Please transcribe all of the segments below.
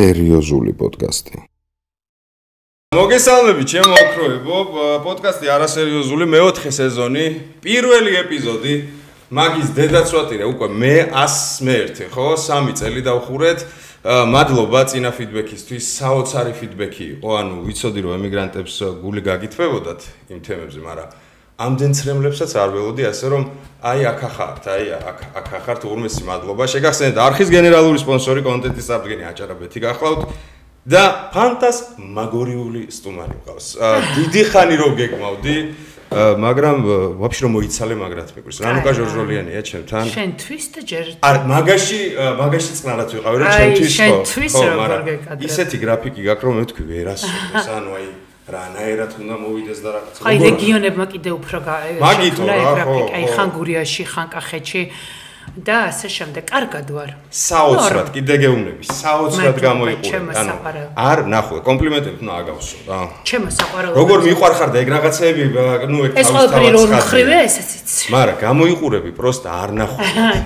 არასერიოზული პოდკასტი. მოგესალმებით, ჩემო ოქროებო, პოდკასტი არასერიოზული მეოთხე სეზონი, პირველი ეპიზოდი, მაგის დედაცვატირე უკვე მე 101, ხო, 3 წელი დავხურეთ. მადლობა წინა ფიდბექისთვის, საოცარი ფიდბექი იყო, ანუ ვიცოდი რომ ემიგრანტებს გული გაგითვებოდათ იმ თემებზე, მაგრამ ამდენ ცრემლებსაც არ ველოდი, ასე რომ აი აქ ახართ ურმესი მადლობა. შეგახსენებთ არხის გენერალური სპონსორი კონტენტის საფრთხენი აჭარაბეთი გახლავთ და ფანტასმაგორიული სტუმარი მყავს. დიდი ხანი რო გეკმავდი, მაგრამ ვაფშე რომ მოიცალე მაგრად მეკრის. რანუკა ჟორჟოლიანია ჩემთან. შენთვის და ჯერ მაგაში წყნარად ვიყავი რა ჩემთვის ხო. შენთვის როგორ გეკადრე. ისეთი გრაფიკი გაქვს რომ მე თქვი ვერასოდეს, ანუ აი რანაირად უნდა მოვიდეს და რაღაც. აი რეგიონებმა კიდე უფრო მაგითო რა ხო. აი ხან გურიაში, ხან კახეთში და ასე შემდეგ. კარგად ვარ. საოცრად კიდე გეუბნები, საოცრად გამოიყურე. ანუ არ ნახო, კომპლიმენტები უნდა აგავსო რა. ჩემო საყვარელო. როგორ მიყვარხარ და ეგ რაღაცეები, ნუ ეგ ეს ყველაფერი რო მხრივია, ესეც იცი. მაგრამ გამოიყურები, პროსტა არ ნახო.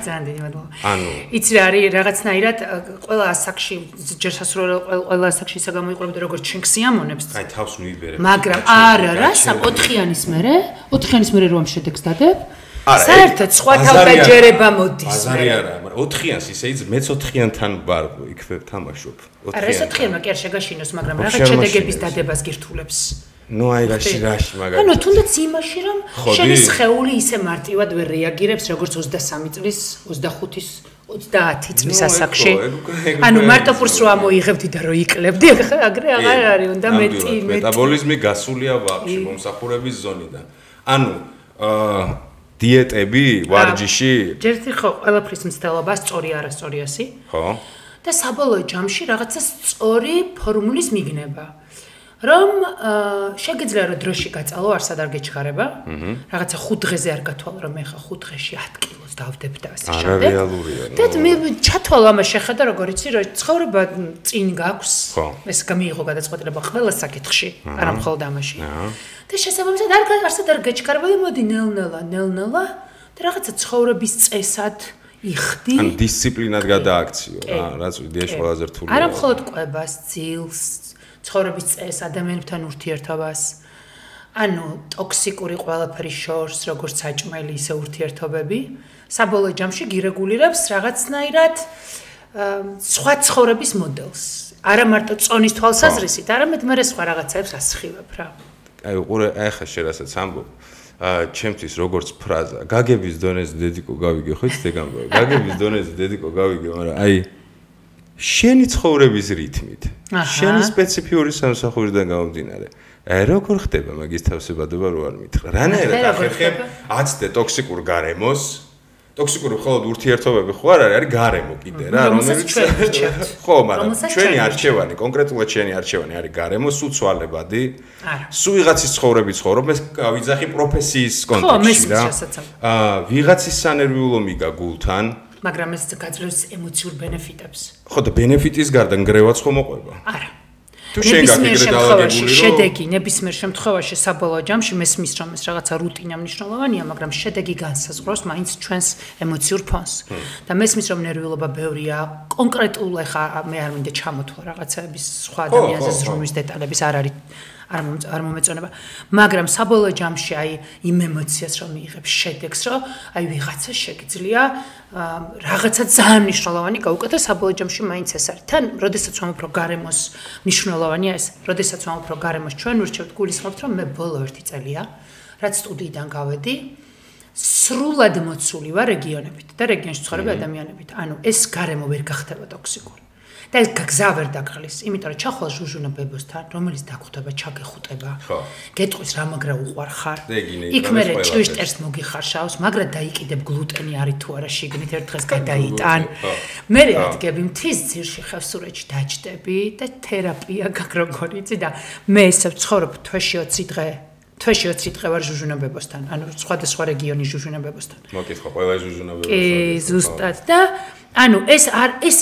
ძალიან დიდი მადლობა. ანუ იცი რა არის რაღაცნაირად ყველა ასაკში ჯერ სასურველ ყველა ასაკში ისა გამოიყურებდი როგორც ჩვენ ქსიამონებს. აი თავს მიიბერე. მაგრამ არა რა, 4-იანის მერე რომ შედეგს დადებ. საერთოდ სხვა თავდაჯერება მოდის. აზარი არა, მაგრამ 4-იანს ისე იც მეც 4-იანთან ვარ, იქვე თამაშობ. 4-იან. არა, ეს 4-იანმა კი არ შეგაშინოს, მაგრამ რაღაც შედეგების დადებას გირთულებს. ნუ აი რაში მაგალითად. ანუ თუნდაც იმაში რომ შენი სხეული ისე მარტივად ვერ რეაგირებს როგორც 23 წლის, 25-ის 30 წლის ასაკში. ანუ მარტო პურს რო ამოიღებდი და რო იყლებდი, აგრე აღარ არის, უნდა მეტი. მეტაბოლიზმი გასულია ვაფშე მომსახურების ზონიდან. ანუ დიეტები, ვარჯიში. ჯერთი ხო, ყველაფრის მცდელობა სწორი არასწორიასი. ხო. და საბოლოო ჯამში რაღაცა სწორი ფორმულის მიგნება. რომ შეგიძლია რომ დროში გაწალო, არსად არ გეჩქარება. რაღაცა 5 დღეზე არ გათვალო, რომ მე ხა 5 დღეში 10 კილოს დავდებ და ასე შემდეგ. არარეალურია. და მე ჩათვალო ამას შეხედა როგორ იცი, რომ ცხოვრება წინ გაქვს. ეს გამიიღო გადაწყვეტილება ყველა საკითხში, არა მხოლოდ ამაში. და შესაბამისად არსად არ გეჩქარება და მოდი ნელ-ნელა და რაღაცა ცხოვრების წესად იხდი. ან დისციპლინად გადააქციო რა, რაც იდეაში ყველაზე რთულია. არა მხოლოდ კვებას, ძილს, ცხოვრების წესს, ადამიანებთან ურთიერთობას. ანუ ტოქსიკური ყველაფერი შორს, როგორც საჭმელი, ისე ურთიერთობები, საბოლოო ჯამში გირეგულირებს რაღაცნაირად სხვა ცხოვრების მოდელს. არა მარტო წონის თვალსაზრისით, არამედ მე სხვა რაღაცებს ასხივებ რა. აი უყურე, აი ხა შერასაც ამბობ. ჩემთვის როგორც ფრაზა, გაგების დონეზე დედიკო გავიგე, ხო იცით ეგ ამბობ. გაგების დონეზე დედიკო გავიგე, მაგრამ აი შენი ცხოვრების რითმით, შენი სპეციფიური სამსახურიდან გამომდინარე. აი როგორ ხდება მაგის თავსებადობა რო არ მითხრა. რანაირად ახერხებ აცდე ტოქსიკურ გარემოს. ტოქსიკური მხოლოდ ურთიერთობები ხო არ არის გარემო კიდე რა, რომელიც ხო, მაგრამ ჩვენი არჩევანი, კონკრეტულად ჩვენი არჩევანი არის გარემო, სულ ცვალებადი. სულ ვიღაცის ცხოვრები ცხოვრობ, ეს ვიძახი პროფესიის კონტექსტში რა. ვიღაცის სანერვიულო მიგა გულთან, მაგრამ ეს გაძლევს ემოციურ ბენეფიტებს. ხო და ბენეფიტის გარდა ნგრევაც ხო მოყვება? არა. თუ შენ გაგიგრე დაალაგებული რომ შედეგი ნებისმიერ შემთხვევაში საბოლოო ჯამში მესმის რომ ეს რაღაცა რუტინა მნიშვნელოვანია, მაგრამ შედეგი განსაზღვრავს მაინც ჩვენს ემოციურ ფონს. და მესმის რომ ნერვიულობა ბევრია, კონკრეტულ ახლა მე არ მინდა ჩამოთვალ რაღაცების სხვა ადამიანზე ზრუნვის დეტალების არ მომეწონება, მაგრამ საბოლოო ჯამში აი იმ ემოციას რომ მიიღებ შედეგს, რომ აი ვიღაცა შეგიძლია რაღაცა ძალიან მნიშვნელოვანი გაუკეთო საბოლოო ჯამში მაინც ეს არის. თან, როდესაც ვამბობ რომ გარემოს მნიშვნელოვანია ეს, როდესაც ვამბობ რომ გარემოს ჩვენ ვირჩევთ, გულისხმობთ რომ მე ბოლო 1 წელია, რაც სტუდიიდან გავედი, სრულად მოცული ვარ რეგიონებით და რეგიონში ცხოვრები ადამიანებით. ანუ ეს გარემო ვერ გახდება ტოქსიკური. და ეს გაგზა ვერ დაგყლის, იმიტომ რომ ჩახვალ ჟუჟუნა ბებოსთან, რომელიც დაგხვდება, ჩაგეხუტება. გეტყვის რა მაგრა უყვარ ხარ. იქ მე ჭვიშტერს მოგიხარშავს, მაგრა დაიკიდებ გლუტენი არის თუ არა შიგნით ერთ დღეს გადაიტან. მე ადგები მთის ძირში ხევსურეთში დაჭდები და თერაპია გაგროგორი იცი და მე ესე ვცხოვრობ თვეში 20 დღე. თვეში 20 დღე ვარ ჟუჟუნა ბებოსთან, ანუ სხვადასხვა რეგიონის ჟუჟუნა ბებოსთან. მოკითხა ყველა ჟუჟუნა ბებოსთან. კი, ზუსტად და ანუ ეს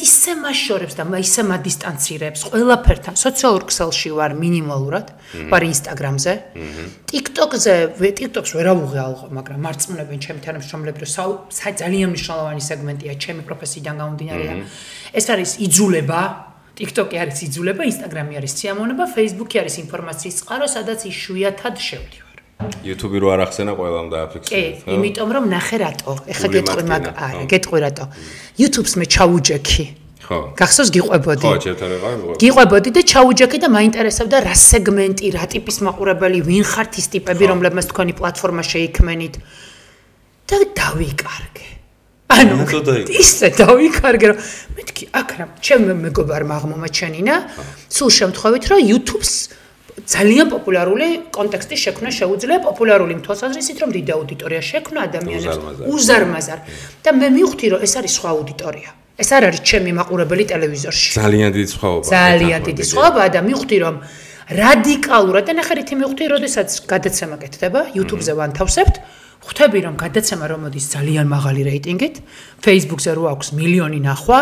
ისე მაშორებს და ისე მადისტანცირებს ყველაფერთან. სოციალურ ქსელში ვარ მინიმალურად, ვარ ინსტაგრამზე. TikTok-ს ვერავუღე ალყო, მაგრამ მარწმუნებენ ჩემი თანამშრომლები, რომ ძალიან მნიშვნელოვანი სეგმენტია ჩემი პროფესიიდან გამომდინარე და ეს არის იძულება TikTok-ი არის იძულება, Instagram-ი არის სიამოვნება, Facebook-ი არის ინფორმაციის წყარო, სადაც იშვიათად შევდივარ. YouTube-ი რო არ ახსენა ყველამ დააფიქსირეთ, ხო? იმიტომ რომ ნახე რატო. ეხლა გეტყვი არა, გეტყვი რატო. YouTube-ს მე ჩაუჯექი. ხო. გახსოვს გიყვებოდი? ხო, ჩემთან ვიყავი. გიყვებოდი და ჩაუჯექი და მაინტერესებდა რა სეგმენტი, რა ტიპის მაყურებელი, ვინ ხართ ის ტიპები, რომლებმაც თქვენი პლატფორმა შეიქმენით. და დავიკარგე. ანუ ისე დავიკარგე რომ მეთქი აქ რა ჩემ მეგობარმა აღმომაჩენინა სულ შემთხვევით რომ YouTube-ს ძალიან პოპულარული კონტექსტი შექმნა შეუძლია პოპულარული თვალსაზრისით რომ დიდი აუდიტორია შექმნა ადამიანებს უზარმაზარ და მე მივხვდი რომ ეს არის სხვა აუდიტორია ეს არ არის ჩემი მაყურებელი ტელევიზორში ძალიან დიდი სხვაობაა ძალიან დიდი სხვაობაა და მივხვდი რომ რადიკალურად და ნახე რითი მივხვდი როდესაც გადაცემა კეთდება YouTube-ზე ვანთავსებთ ხვდები რომ გადაცემა რომ მოდის ძალიან მაღალი რეიტინგით, Facebook-ზე რო აქვს მილიონი ნახვა,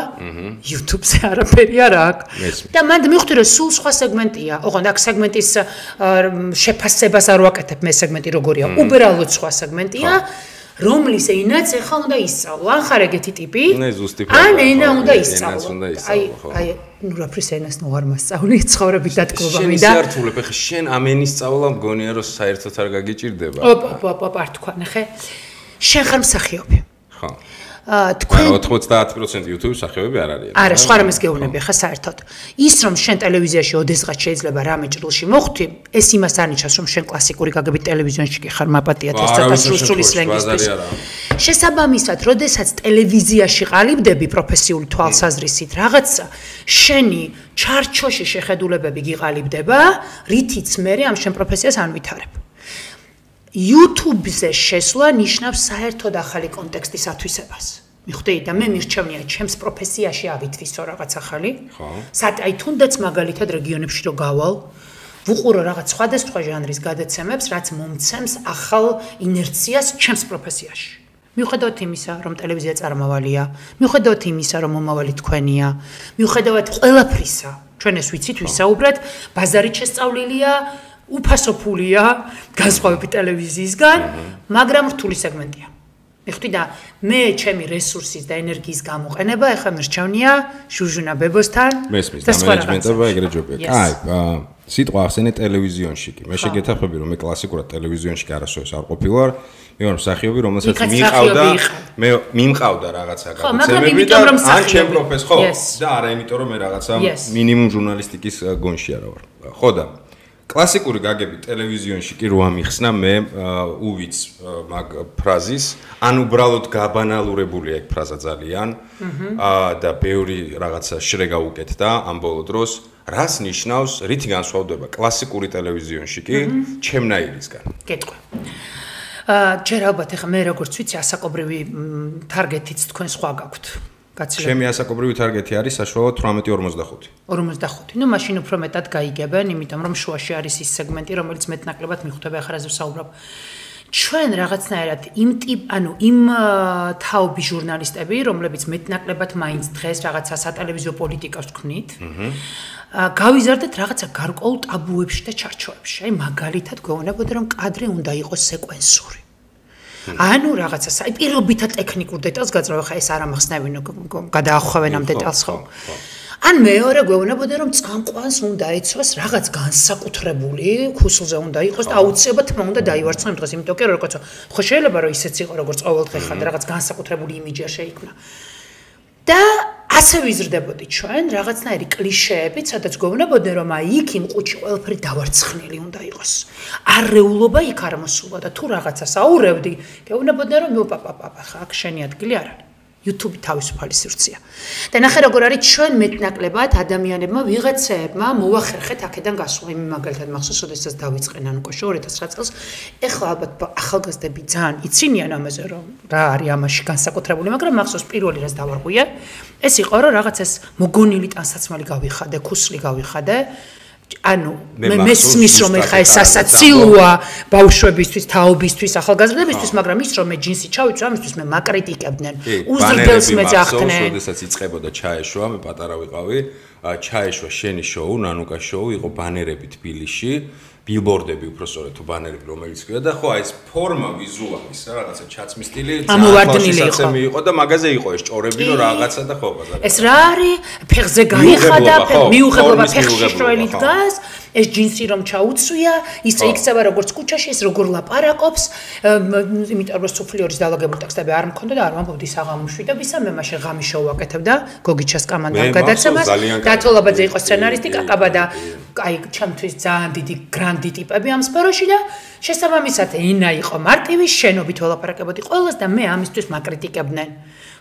YouTube-ზე არაფერი არ აქვს. და მანდ მივხვდი რომ სულ სხვა სეგმენტია. ოღონდ აქ სეგმენტის შეფასებას არ ვაკეთებ, მე სეგმენტი როგორია, უბრალოდ სხვა სეგმენტია, რომლის ენაც ეხლა უნდა ისწავლო. ან ხარ ეგეთი ტიპი, ან ენა უნდა ისწავლო. აი, ნუ რაფრის ენას ნუ არ მასწავლი, ცხოვრებით დატკბობა მინდა. შენ ისართულებ, ხე შენ ამ ენის სწავლა მგონია რომ საერთოდ არ გაგიჭირდება. არ თქვა, ნახე. შენ ხარ მსახიობი. ხო. თქვენ 90% YouTube მსახიობები არ არიან. არა, სხვა რამეს გეუბნები ხა საერთოდ. ის რომ შენ ტელევიზიაში ოდესღაც შეიძლება რამე ჭრილში მოხვდი, ეს იმას არ ნიშნავს რომ შენ კლასიკური გაგებით ტელევიზიონში კი ხარ მაპატიათ ეს ცოტა სრული სლენგისთვის. შესაბამისად, როდესაც ტელევიზიაში ყალიბდები პროფესიული თვალსაზრისით, რაღაცა შენი ჩარჩოში შეხედულებები გიყალიბდება, რითიც მე ამ შენ პროფესიას ანვითარებ. YouTube-ზე შესვლა ნიშნავს საერთოდ ახალი კონტექსტის ათვისებას. მიხვდი და მე მირჩევნია ჩემს პროფესიაში ავითვისო რაღაც ახალი. ხო. აი თუნდაც მაგალითად რეგიონებში რო გავალ, ვუყურო რაღაც სხვადასხვა ჟანრის გადაცემებს, რაც მომცემს ახალ ინერციას ჩემს პროფესიაში. მიუხედავად იმისა, რომ ტელევიზია წარმავალია, მიუხედავად იმისა, რომ მომავალი თქვენია, მიუხედავად ყველაფრისა, ჩვენ ეს ვიცით, ვისაუბრეთ, ბაზარით შესწავლილია უფასო ფულია განსხვავებით ტელევიზიისგან, მაგრამ რთული სეგმენტია. მიხვდი და მე ჩემი რესურსის და ენერგიის გამოყენება ახლა მერჩევნია ჟუჟუნა ბებოსთან და სხვა მენეჯმენტება ეგრე ჯობია. აი, სიტყვა ახსენე ტელევიზიონში კი. მე შეგეთახმები რომ მე კლასიკურად ტელევიზიონში კი არასოდეს არ ყოფილვარ. მე ვარ მსახიობი, რომელსაც მიმყავდა რაღაცა გადაცემები და ან ჩემ პროფეს ხო და არა იმიტომ რომ მე რაღაცა მინიმუმ ჟურნალისტიკის გონში არა ვარ. ხო და კლასიკური გაგები ტელევიზიონში კი რო ამიხსნა მე უვიც მაგ ფრაზის ან უბრალოდ გაბანალურებულია ეგ ფრაზა ძალიან და ბევრი რაღაცა შრეგა უკეთდა ამ ბოლო დროს რას ნიშნავს რითი განსხვავდება კლასიკური ტელევიზიონში კი ჩემნაირისგან გეტყვი ჯერ ალბათ ეხა მე როგორც ვიცი ასაკობრივი თარგეტიც თქვენ სხვა გაქვთ ჩემი ასაკობრივი თარგეტი არის საშუალოდ 18-45. 45. ნუ მაშინ უფრო მეტად გაიგებენ, იმიტომ რომ შუაში არის ის სეგმენტი, რომელიც მეტნაკლებად მიხვდება ახლა რაზე ვსაუბრობ. ჩვენ რაღაცნაირად იმ თაობის ჟურნალისტები, რომლებიც მეტნაკლებად მაინც დღეს რაღაცა სატელევიზიო პოლიტიკას ვქმნით, გავიზარდეთ რაღაცა გარკვეულ ტაბუებში და ჩარჩოებში. აი მაგალითად გვეუბნებოდა რომ კადრი უნდა იყოს სეკვენსური. ანუ რაღაცა პირობითად ტექნიკურ დეტალს გაძრავ ხა ეს არ ამახსნევინო გადაახვევენ ამ დეტალს ხო ან მეორე გვეუბნებოდა რომ წამყვანს უნდა ეცვას რაღაც განსაკუთრებული ქუსლზე უნდა იყოს და აუცილებლად თმა უნდა დაივარცხო იმ დღეს იმიტომ რომ როგორც ხო შეიძლება რომ ისეც იყო როგორც ყოველდღე ხარ და რაღაც განსაკუთრებული იმიჯი არ შეიქმნა და ასე ვიზრდებოდი ჩვენ რაღაცნაირი კლიშეებით, სადაც გვეუბნებოდნენ რომ აი იქ იმ ყუთში ყველაფერი დავარცხნილი უნდა იყოს. არეულობა იქ არ მოსულა და თუ რაღაცას აურევდი, გეუბნებოდნენ რომ პაპაპაპა, ხა აქ შენი ადგილი არ არის. YouTube თავისუფალი სივრცეა. და ნახე როგორ არის ჩვენ მეტნაკლებად ადამიანებმა ვიღაცეებმა მოახერხეთ აქედან გასვლა. იმ მაგალითად მახსოვს, როდესაც დავიწყე ნანუკო 2009 წელს, ეხლა ალბათ ახალგაზრდები ძალიან იცინიან ამაზე რომ რა არის ამაში განსაკუთრებული, მაგრამ მახსოვს პირველი რაც დავარღვია, ეს იყო რომ რაღაცას მოგონილი ტანსაცმელი გავიხადე, ქუსლი გავიხადე. ანუ მე მესმის რომ ეხა ეს სასაცილოა ბავშვებისთვის, თაობისთვის, ახალგაზრდებისთვის, მაგრამ ის რომ მე ჯინსი ჩავიწვა, ამისთვის მე მაკრიტიკებდნენ. უზრდელს მეძახდნენ. როდესაც იწყებოდა ჩაეშვა, მე პატარა ვიყავი, ჩაეშვა შენი შოუ, ნანუკა შოუ, იყო ბანერები თბილისში ბილბორდები უბრალოდ თუ ბანერები რომელიც ქვია და ხო აი ეს ფორმა ვიზუალის რა რაღაცა ჩაცმის სტილი ამოვარდნილი იყო და მაგაზე იყო ეს ჭორები რომ რაღაცა და ხო ბაზარი ეს რა არის ფეხზე გაიხადა მიუღებლობა ფეხში შროელი დგას ეს ჯინსი რომ ჩაუცვია ის იქცევა როგორც კუჩაში ეს როგორ ლაპარაკობს იმიტომ რომ სუფლიორის დალაგებული ტექსტები არ მქონდა და არ ვამბობდი საღამო მშვიდობისა მე მაშინ ღამის შოუ ვაკეთებდა გოგიჩას კამანდამ გადაცემას დათოლაბაძე იყო სცენარისტი კაკაბა და აი ჩემთვის ძალიან დიდი გრანდი ტიპები ამ სფეროში და შესაბამისად ენა იყო მარტივი შენობით ველაპარაკებოდი ყველას და მე ამისთვის მაკრიტიკებდნენ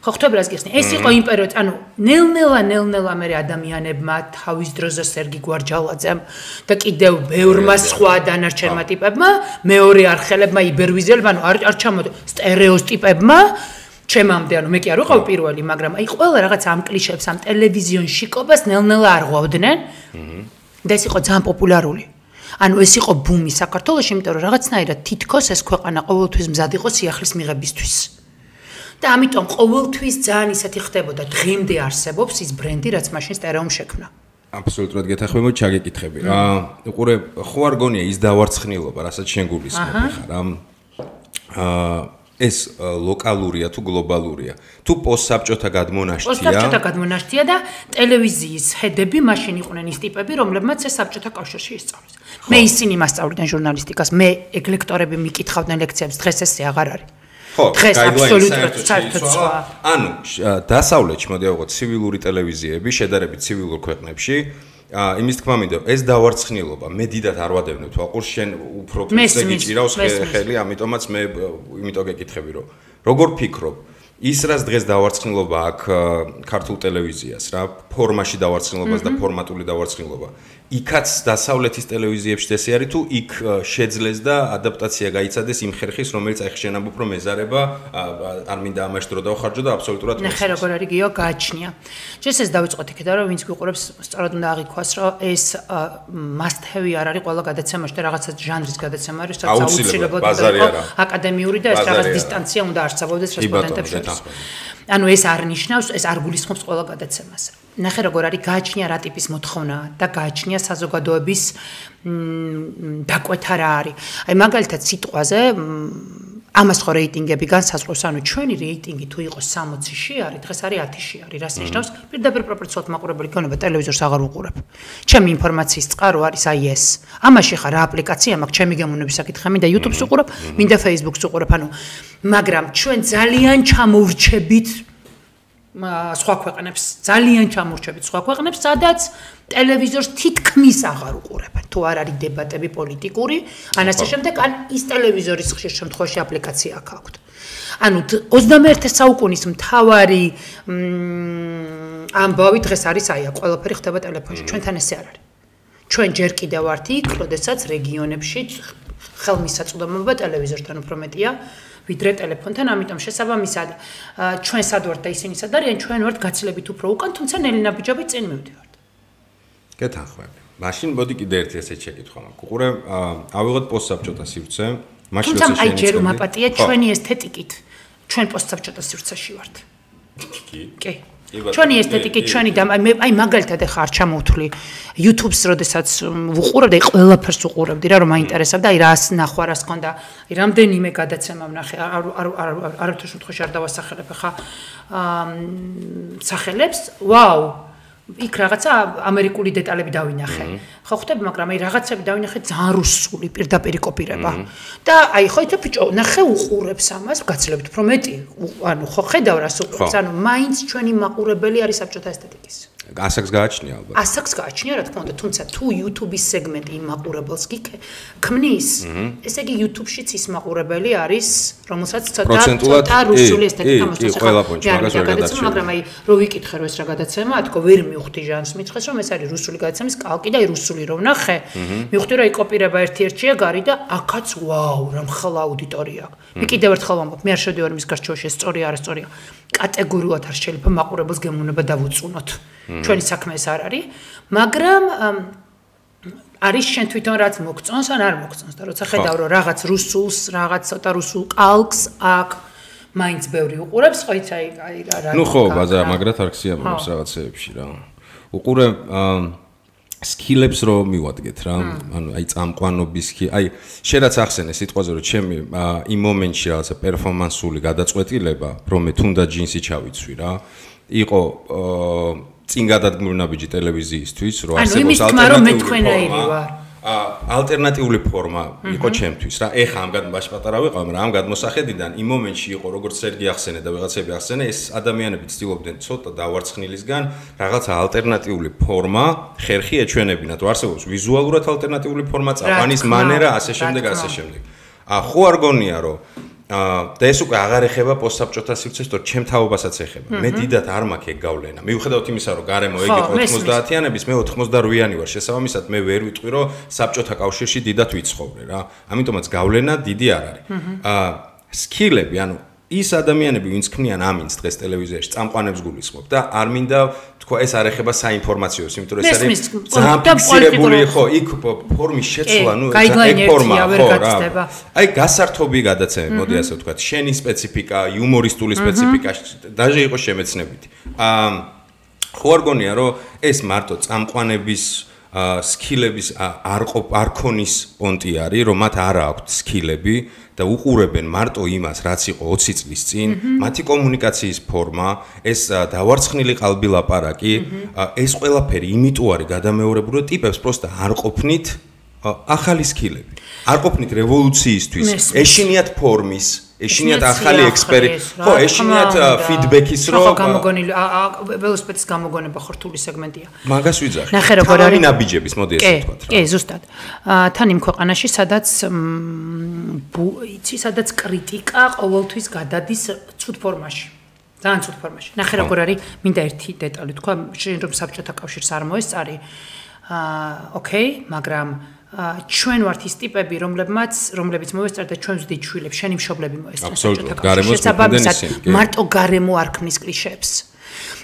ხო ხვდები რას გიხსნი ეს იყო იმ პერიოდი ანუ ნელ-ნელა მე ადამიანებმა თავის დროზე სერგი გვარჯალაძემ და კიდევ ბევრმა სხვა დანარჩენმა ტიპებმა მეორე არხელებმა იბერვიზელებმა ანუ არ ჩამოდი სტერეოტიპებმა ჩემამდე ანუ მე კი არ ვიყავ პირველი მაგრამ აი ყველა რაღაც ამ კლიშეებს ამ ტელევიზიონში ყობას ნელ-ნელა არ ღვავდნენ და ეს იყო ძალიან პოპულარული ანუ ეს იყო ბუმი საქართველოში იმიტომ რომ რაღაცნაირად თითქოს ეს ქვეყანა ყოველთვის მზად იყო სიახლის მიღებისთვის და ამიტომ ყოველთვის ძალიან ისეთი ხდებოდა დღემდე არსებობს ის ბრენდი რაც მაშინ სტერეომ შექმნა აბსოლუტურად გეთანხმებოდი ჩაგეკითხები უყურე ხო არ გონია ის დავარცხნილობა რასაც შენ გულისხმობ ხარ ეს ლოკალურია თუ გლობალურია თუ პოსტსაბჭოთა გადმონაშთია და ტელევიზიის ჰედები მაშინ იყვნენ ის ტიპები რომლებმაც ეს საბჭოთა კავშირში ისწავლეს მე ისინი მასწავლდნენ ჟურნალისტიკას მე ელექტორები მიკითხავდნენ ლექციებს დღეს ესე აღარ არის ხო დღეს აბსოლუტურად საერთოდ სხვა ანუ დასავლეთში მოდი ავიღოთ ცივილური ტელევიზიები შედარებით ცივილურ ქვეყნებში იმის თქმა მინდა ეს დავარცხნილობა მე დიდად არ ვადევნებ თვალყურს შენ უფრო ფიქრზე გიჭირავს ხელი ამიტომაც მე იმიტომ გეკითხები რომ როგორ ფიქრობ ის რაც დღეს დავარცხნილობა აქ ქართულ ტელევიზიას რა ფორმაში დავარცხნილობას და ფორმატული დავარცხნილობა იქაც დასავლეთის ტელევიზიებში ესე არის თუ იქ შეძლეს და ადაპტაცია გაიცადეს იმ ხერხის რომელიც აი ხშენ ამბობ რომ ეზარება არ მინდა ამაში დრო დავხარჯო და აბსოლუტურად ნახე როგორ არის გიო გააჩნია ჯერ ეს დავიწყოთ იქიდან რომ ვინც გვიყურებს სწორად უნდა აღიქვას რომ ეს must have არ არის ყველა გადაცემაში და რაღაცა ჟანრის გადაცემა არის რაც აუცილებლად იყო აკადემიური და ეს რაღაც დისტანცია უნდა არსებობდეს რესპონდენტებს შორის ანუ ეს არ ნიშნავს ეს არ გულისხმობს ყველა გადაცემას ნახე როგორ არის გააჩნია რა ტიპის მოთხოვნა და გააჩნია საზოგადოების დაკვეთა რა არის აი მაგალითად სიტყვაზე ამას ხო რეიტინგები განსაზღვრავს ანუ ჩვენი რეიტინგი თუ იყოს 60-ში არის დღეს არის 10-ში არის რას ნიშნავს პირდაპირ პროპორციულად მაყურებელი გონება ტელევიზორს აღარ უყურებ ჩემი ინფორმაციის წყარო არის აი ეს ამაში ხარ რა აპლიკაცია მაქვს ჩემი გემოვნების საკითხი მინდა YouTube-ს უყურებ მინდა Facebook-ს უყურებ ანუ მაგრამ ჩვენ ძალიან ჩამოვრჩებით სხვა ქვეყნებს ძალიან ჩამორჩებით სხვა ქვეყნებს სადაც ტელევიზორს თითქმის აღარ უყურებენ თუ არ არის დებატები პოლიტიკური ან ასე შემდეგ ან ის ტელევიზორის ხშირ შემთხვევაში აპლიკაცია აქვს ანუ 21 საუკუნის მთავარი ამბავი დღეს არის აია ყველაფერი ხდება ტელეფონში ჩვენთან ესე არ არის ჩვენ ჯერ კიდევ ვართ იქ როდესაც რეგიონებში ხელმისაწვდომობა ტელევიზორთან უფრო მეტია ვიდრე ტელეფონთან, ამიტომ შესაბამისად ჩვენ სად ვართ და ისინი სად არიან, ჩვენ ვართ გაცილებით უფრო უკან, თუმცა ნელინა ბიჯები წინ მივდივართ. გეთანხმები. მაშინ მოდი კიდე ერთი ესეთ შეკითხვა მაქვს. უყურე, ავიღოთ პოსტსაბჭოთა სივრცე, მაშინ როცა აი ჯერ უმაპატია ჩვენი ესთეტიკით, ჩვენ პოსტსაბჭოთა სივრცეში ვართ. კი. ჩვენი ესთეტიკით, ჩვენი და აი მაგალითად ახლა არ ჩამოვთვლი YouTube-ს, როდესაც ვუყურებდი, ყველაფერს ვუყურებდი რა, რომ მაინტერესებდა, აი რას ნახვა, რას ქონდა, აი რამდენიმე გადაცემა ვნახე, არავითარ შემთხვევაში არ დავასახელებ ახლა სახელებს, ვაუ იქ რაღაცა ამერიკული დეტალები დავინახე. ხო ხვდები, მაგრამ აი რაღაცები დავინახე ძალიან რუსული პირდაპირ კოპირება. და აი ხო იცი ბიჭო, ნახე უყურებს ამას, გაცილებით უფრო მეტი. ანუ ხო ხედავ რას უყურებს, ანუ მაინც ჩვენი მაყურებელი არის საბჭოთა ესთეტიკის. ასაკს გააჩნია ალბათ. ასაკს გააჩნია რა თქმა უნდა, თუმცა თუ YouTube-ის სეგმენტი იმ მაყურებელს ქმნის, ესე იგი YouTube-შიც ის მაყურებელი არის, რომელსაც ცოტა რუსული ესთეტიკა მოსწონს. მაგრამ აი რო ვიკითხე რომ ეს რა გადაცემა, თქო ვერ მივხვდი ჟანრს, მითხრეს რომ ეს არის რუსული გადაცემის კალკი და აი რუსული რო ვნახე, მივხვდი რომ აი კოპირება ერთ-ერთია გარი და აქაც ვაუ, რა მხლა აუდიტორია აქვს. მე კიდევ ერთხელ ვამბობ, მე არ შევდივარ მის გარშემოში, ეს სწორია არა სწორია. კატეგორიულად არ შეიძლება მაყურებელს გემოვნება დავუწუნოთ. ჩვენი საქმე ეს არ არის, მაგრამ არის შენ თვითონ რაც მოგწონს ან არ მოგწონს და როცა ხედავ რომ რაღაც რუსულს, რაღაც ცოტა რუსულ კალკს აქ მაინც ბევრი უყურებს, ხო იცი აი რა. ნუ ხო, ბაზა მაგრად არ ხსიამებს რაღაცეებში რა. უყურე სკილებს რო მივადგეთ რა, ანუ აი წამყვანობის აი შენ რაც ახსენე სიტყვაზე რომ ჩემი იმ მომენტში რაღაცა პერფორმანსული გადაწყვეტილება, რომ მე თუნდაც ჯინსი ჩავიცვი რა, იყო წინ გადადგმული ნაბიჯი ტელევიზიისთვის, რომ არსებობს ალტერნატიული ალტერნატიული ფორმა იყო ჩემთვის რა. ეხა ამ გადმაში პატარა ვიყავ, მაგრამ ამ გადმოსახედიდან იმ მომენტში იყო, როგორც სერგი ახსენე და ვიღაცები ახსენე, ეს ადამიანები ცდილობდნენ ცოტა დავარცხნილისგან რაღაცა ალტერნატიული ფორმა, ხერხი ეჩვენებინათ, არსებობს ვიზუალურად ალტერნატიული ფორმა, წაყვანის მანერა, ასე შემდეგ. ხო არ გონია, რომ და ეს უკვე აღარ ეხება პოსტსაბჭოთა სივრცეს, თორე ჩემ თაობასაც ეხება. მე დიდად არ მაქვს ეგ გავლენა. მიუხედავად იმისა, რომ გარემო ეგ იყო 90-იანების, მე 88-იანი ვარ. შესაბამისად, მე ვერ ვიტყვი, რომ საბჭოთა კავშირში დიდად ვიცხოვრე რა. ამიტომაც გავლენა დიდი არ არის. სკილები, ანუ ის ადამიანები, ვინც ქმნიან ამინს დღეს ტელევიზიაში, წამყვანებს გულისხმობ და არ მინდა თქვა ეს არ ეხება საინფორმაციოს, იმიტომ რომ ეს არის ძალიან ფიქსირებული, ხო, იქ ფორმის შეცვლა, ნუ ეგ ფორმა, ხო რა. აი გასართობი გადაცემები, მოდი ასე ვთქვათ, შენი სპეციფიკა, იუმორისტული სპეციფიკა, დაჟე იყო შემეცნებითი. ხო არ გონია, რომ ეს მარტო წამყვანების სკილების არ ქონის პონტი არის, რომ მათ არ აქვთ სკილები და უყურებენ მარტო იმას, რაც იყო 20 წლის წინ, მათი კომუნიკაციის ფორმა, ეს დავარცხნილი ყალბილაპარაკი, ეს ყველაფერი იმიტომ არის გადამეორებული, რომ ტიპებს პროსტა არ ყოფნით ახალი სკილები. არ ყოფნით რევოლუციისთვის, ეშინიათ ფორმის, ეშინიათ ახალი ექსპერიმენტი. ხო, ეშინიათ ფიდბექის რო გამოგონილი ველოსიპედის გამოგონება ხორთული სეგმენტია. მაგას ვიძახი. ნახე როგორ არის ნაბიჯების, მოდი ესე ვთქვათ რა. კი, ზუსტად. თან იმ ქვეყანაში, სადაც იცი, სადაც კრიტიკა ყოველთვის გადადის ცუდ ფორმაში. ძალიან ცუდ ფორმაში. ნახე როგორ არის, მინდა ერთი დეტალი თქვა, შენ რომ საბჭოთა კავშირს არ მოესწარი. ოკეი, მაგრამ ჩვენ ვართ ის ტიპები, რომლებიც მოესწრათ და ჩვენ ვზდით შვილებს, შენი მშობლები მოესწრათ საბჭოთა კავშირში. შესაბამისად, მარტო გარემო არ ქმნის კლიშეებს.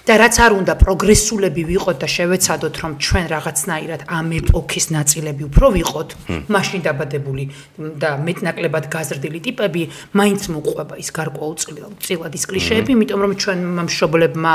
და რაც არ უნდა პროგრესულები ვიყოთ და შევეცადოთ, რომ ჩვენ რაღაცნაირად ამ ეპოქის ნაწილები უფრო ვიყოთ, მაშინ დაბადებული და მეტნაკლებად გაზრდილი ტიპები, მაინც მოყვება ის გარკვეულწილად ის კლიშეები, იმიტომ რომ ჩვენ მშობლებმა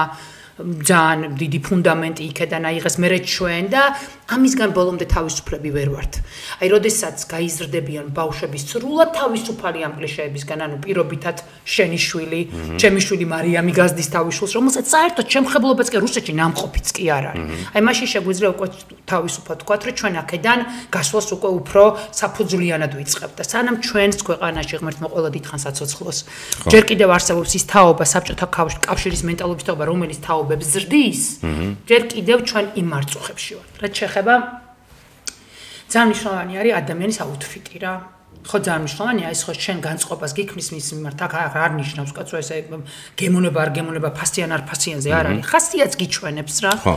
ძალიან დიდი ფუნდამენტი იქედან აიღეს მერე ჩვენ და ამისგან ბოლომდე თავისუფლები ვერ ვართ. აი, როდესაც გაიზრდებიან ბავშვები სრულად თავისუფალი ამ კლიშეებისგან, ანუ პირობითად შენი შვილი, ჩემი შვილი მარიამი გაზდის თავის შვილს, რომელსაც საერთოდ შემხებლობაც კი რუსეთში ნამყოფიც კი არ არის. აი, მაშინ შეგვიძლია უკვე თავისუფლად ვთქვათ, რომ ჩვენ აქედან გასვლას უკვე უფრო საფუძვლიანად ვიწყებთ და სანამ ჩვენს ქვეყანაში ღმერთმა ყველა დიდხანს აცოცხლოს. ჯერ კიდევ არსებობს ის თაობა საბჭოთა კავშირის მენტალობის თაობა, რომელიც თაობებს ზრდის, ჯერ კიდევ ჩვენ იმ მარწუხებში ვართ. რაც შეეხება ძალიან მნიშვნელოვანი არის ადამიანის აუთფიტი რა. ხო, ძალიან მნიშვნელოვანია ის, ხო, შენ განწყობას გიქმნის მის მიმართ, აქ არ ნიშნავს კაცო ესე გემონება არ გემონება, ფასიან არ ფასიანზე არ არის. ხასიათს გიჩვენებს რა. ხო.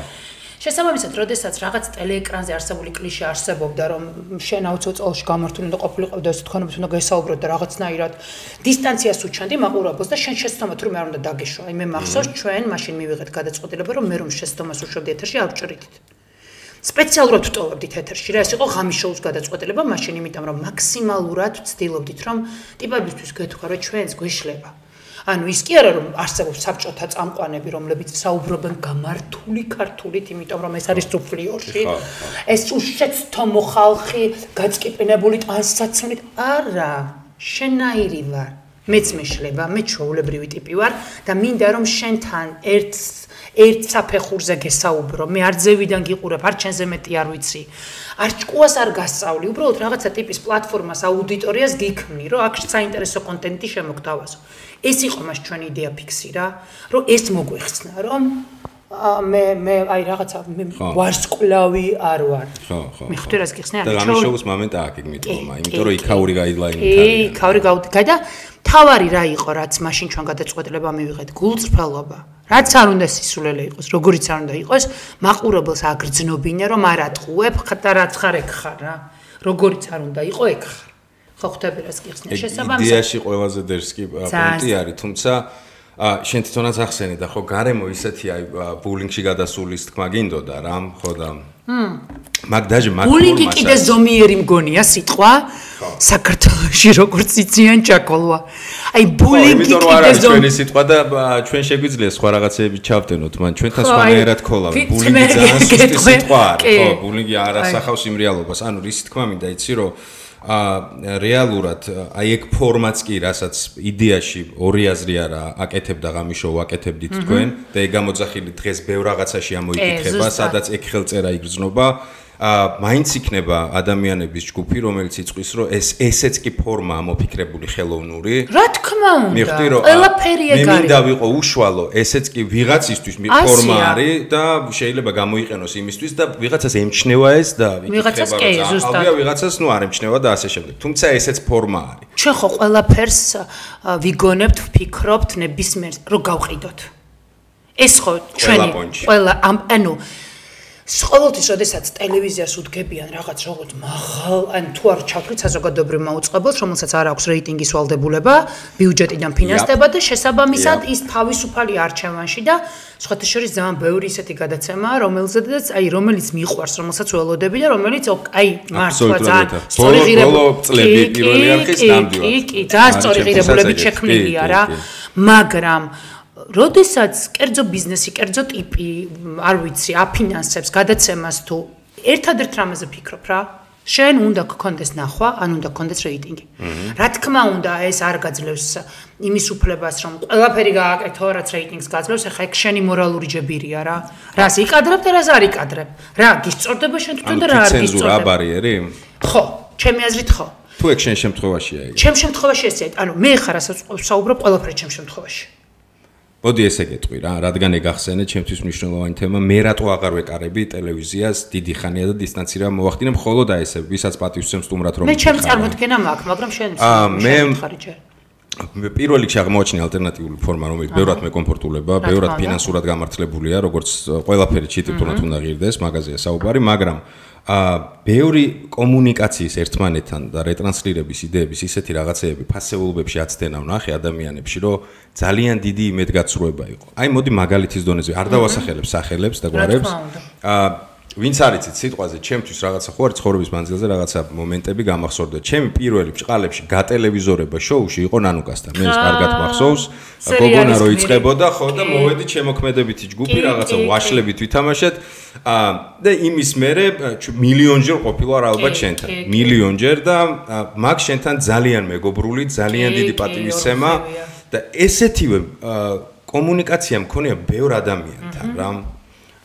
შესაბამისად, როდესაც რაღაც ტელეეკრანზე არსებული კლიშე არსებობდა, რომ შენ აუცილებლად წელში გამართული უნდა ყოფილიყო და ეს თქვენებით უნდა გესაუბროთ და რაღაცნაირად დისტანციას უჩანდი მაყურებელს და შენ შეცდომა თურმე არ უნდა დაგეშვა. აი მე მახსოვს ჩვენ მაშინ მივიღეთ გადაწყვეტილება, რომ მე რომ შეცდომას უშვებდი ეთერში არ ვჭრიდით. სპეციალურად ვტოვებდით ეთერში რა, ეს იყო ღამის შოუს გადაწყვეტილება მაშინ, იმიტომ რომ მაქსიმალურად ვცდილობდით, რომ ტიპებისთვის გეთქვა, რომ ჩვენს გვეშლება. ანუ ის კი არა რომ არსებობს საბჭოთა წამყვანები, რომლებიც საუბრობენ გამართული ქართულით, იმიტომ რომ ეს არის სუფლიორში. ეს უშეცდო მოხალხი, გაწყიპინებული ტანსაცმლით, არა, შენაირი ვარ. მეც მეშლება, მე ჩვეულებრივი ტიპი ვარ და მინდა რომ შენთან ერთ საფეხურზე გესაუბრო. მე არ ძევიდან გიყურებ, არ ჩენზე მეტი არ ვიცი. არ ჭკუას არ გასწავლი, უბრალოდ რაღაცა ტიპის პლატფორმას, აუდიტორიას გიქმნი, რომ აქ საინტერესო კონტენტი შემოგთავაზო. ეს იყო მას ჩვენი იდეა ფიქსი რა, რომ ეს მოგვეხსნა, რომ მე აი რაღაცა ვარსკვლავი არ ვარ. ხო. მე ხვდები რას გიხსნა? და ამის შოუს მომენტა აქ მიტყომა, იმიტომ რომ იქაური გაიდლაინი არის. იქაური გაიდლაინი. თავარი რა იყო, რაც მაშინ ჩვენ გადაწყვეტილება მივიღეთ, გულწრფელობა. რაც არ უნდა სისულელე იყოს, როგორიც არ უნდა იყოს, მაყურებელს აგრძნობინე, რომ არ ატყუებ, და რაც ხარ ეგ ხარ რა. როგორიც არ უნდა იყო, ეგ ხარ. ხო ხვდები რას გიხსნა? შესაბამისად. იდეაში ყველაზე დერსკი პონტი არის, თუმცა შენ თვითონაც ახსენე და ხო გარემო ისეთი აი ბულინგში გადასულის თქმა გინდოდა რა ხო და მაგ დაჟე მაგ ბულინგი კიდე ზომიერი მგონია სიტყვა საქართველოში როგორც იციან ჭაკოლვა აი ბულინგი კიდე ზომიერი სიტყვა და ჩვენ შეგვიძლია სხვა რაღაცეები ჩავდენოთ მან ჩვენთან სხვანაირად ქოლა ბულინგი ძალიან სუსტი სიტყვა არის ხო ბულინგი არ ასახავს იმ რეალობას ანუ რის თქმა მინდა იცი რომ რეალურად აი ეგ ფორმაც კი რასაც იდეაში ორი აზრი არა აკეთებდა ღამიშო ვაკეთებდით თქვენ და ეგ გამოძახილი დღეს ბევრ რაღაცაში ამოიკითხება სადაც ეგ ხელწერა იგრძნობა მაინც იქნება ადამიანების ჯგუფი რომელიც იწვის რომ ესეც კი ფორმაა მოფიქრებული ხელოვნური რა თქმა უნდა მიხდი რომ ყველაფერი ეგ არის მე მინდა ვიყო უშუალო ესეც კი ვიღაცისთვის ფორმა არის და შეიძლება გამოიყენოს იმისთვის და ვიღაცას ემჩნევა ეს და ვიღაცას კი ზუსტად ალბათ ვიღაცას ნუ არ ემჩნევა და ასე შემდეგ თუმცა ესეც ფორმა არის ჩვენ ხო ყველაფერს ვიგონებთ ვფიქრობთ ნებისმიერ რომ გავყიდოთ ეს ხო ჩვენი ყველა ანუ ყოველთვის, როდესაც ტელევიზიას უდგებიან რაღაც როგორც მაღალ, ან თუ არ ჩავთვლით საზოგადოებრივ მაუწყებელს, რომელსაც არ აქვს რეიტინგის ვალდებულება, ბიუჯეტიდან ფინანსდება და შესაბამისად ის თავისუფალი არჩევანში და სხვათა შორის ძალიან ბევრი ისეთი გადაცემა, რომელიც მიყვარს, რომელსაც ველოდები და რომელიც აი მართლა ძალიან სწორი ღირებულებებით ძალიან სწორი ღირებულებებით შექმნილია რა, მაგრამ როდესაც კერძო ბიზნესი, კერძო ტიპი, არ ვიცი, აფინანსებს გადაცემას თუ ერთადერთ რამაზე ფიქრობ რა, შენ უნდა გქონდეს ნახვა, ან უნდა გქონდეს რეიტინგი. რა თქმა უნდა, ეს არ გაძლევს იმის უფლებას, რომ ყველაფერი გააკეთო, რაც რეიტინგს გაძლევს, ახლა ეგ შენი მორალური ჯებირია რა. რას იკადრებ და რას არ იკადრებ. რა გისწორდება შენ თვითონ და რა არ გისწორდება. ცენზურა ბარიერი? ხო, ჩემი აზრით ხო. თუ ეგ შენ შემთხვევაშია ეგ. ჩემ შემთხვევაში ესეა, ანუ მე ხარ რასაც ვსაუბრობ ყველაფერი ჩემ შემთხვევაში. მოდი ესე გეტყვი რა, რადგან ეგ ახსენე, ჩემთვის მნიშვნელოვანი თემა, მე რატო აღარ ვეკარები ტელევიზიას დიდი ხანია და დისტანცირება მოვახდინე, მხოლოდ აი ესე, ვისაც პატივსცემს სტუმრად რომ მე ჩემს წარმოდგენა მაქვს, მაგრამ შენ ხარი ჯერ. მე პირველ რიგში აღმოაჩინე ალტერნატიული ფორმა, რომელიც ბევრად მეკომფორტულება, ბევრად ფინანსურად გამართლებულია, როგორც ყველაფერი ჩიტირთუნად უნდა ღირდეს, მაგაზია საუბარი, მაგრამ ბევრი კომუნიკაციის ერთმანეთთან და რეტრანსლირების იდეების ისეთი რაღაცეები ფასეულობებში აცდენა ვნახე ადამიანებში, რომ ძალიან დიდი იმედგაცრუება იყო. აი მოდი მაგალითის დონეზე არ დავასახელებ სახელებს და გვარებს. ვინც არიცით სიტყვაზე, ჩემთვის რაღაცა ხო არის ცხოვრების მანძილზე რაღაცა მომენტები გამახსოვდა. ჩემი პირველი ბრწყალებში გატელევიზორება შოუში იყო ნანუკასთან. მე ეს კარგად მახსოვს. გოგონა რო იწყებოდა, ხო და მოვედი ჩემოქმედებითი ჯგუფი, რაღაცა ვაშლებით ვითამაშეთ. და იმის მერე მილიონჯერ ყოფილა ალბათ შენთან. მილიონჯერ და მაგ შენთან ძალიან მეგობრული, ძალიან დიდი პატივისცემა და ესეთივე კომუნიკაცია მქონია ბევრ ადამიანთან რა.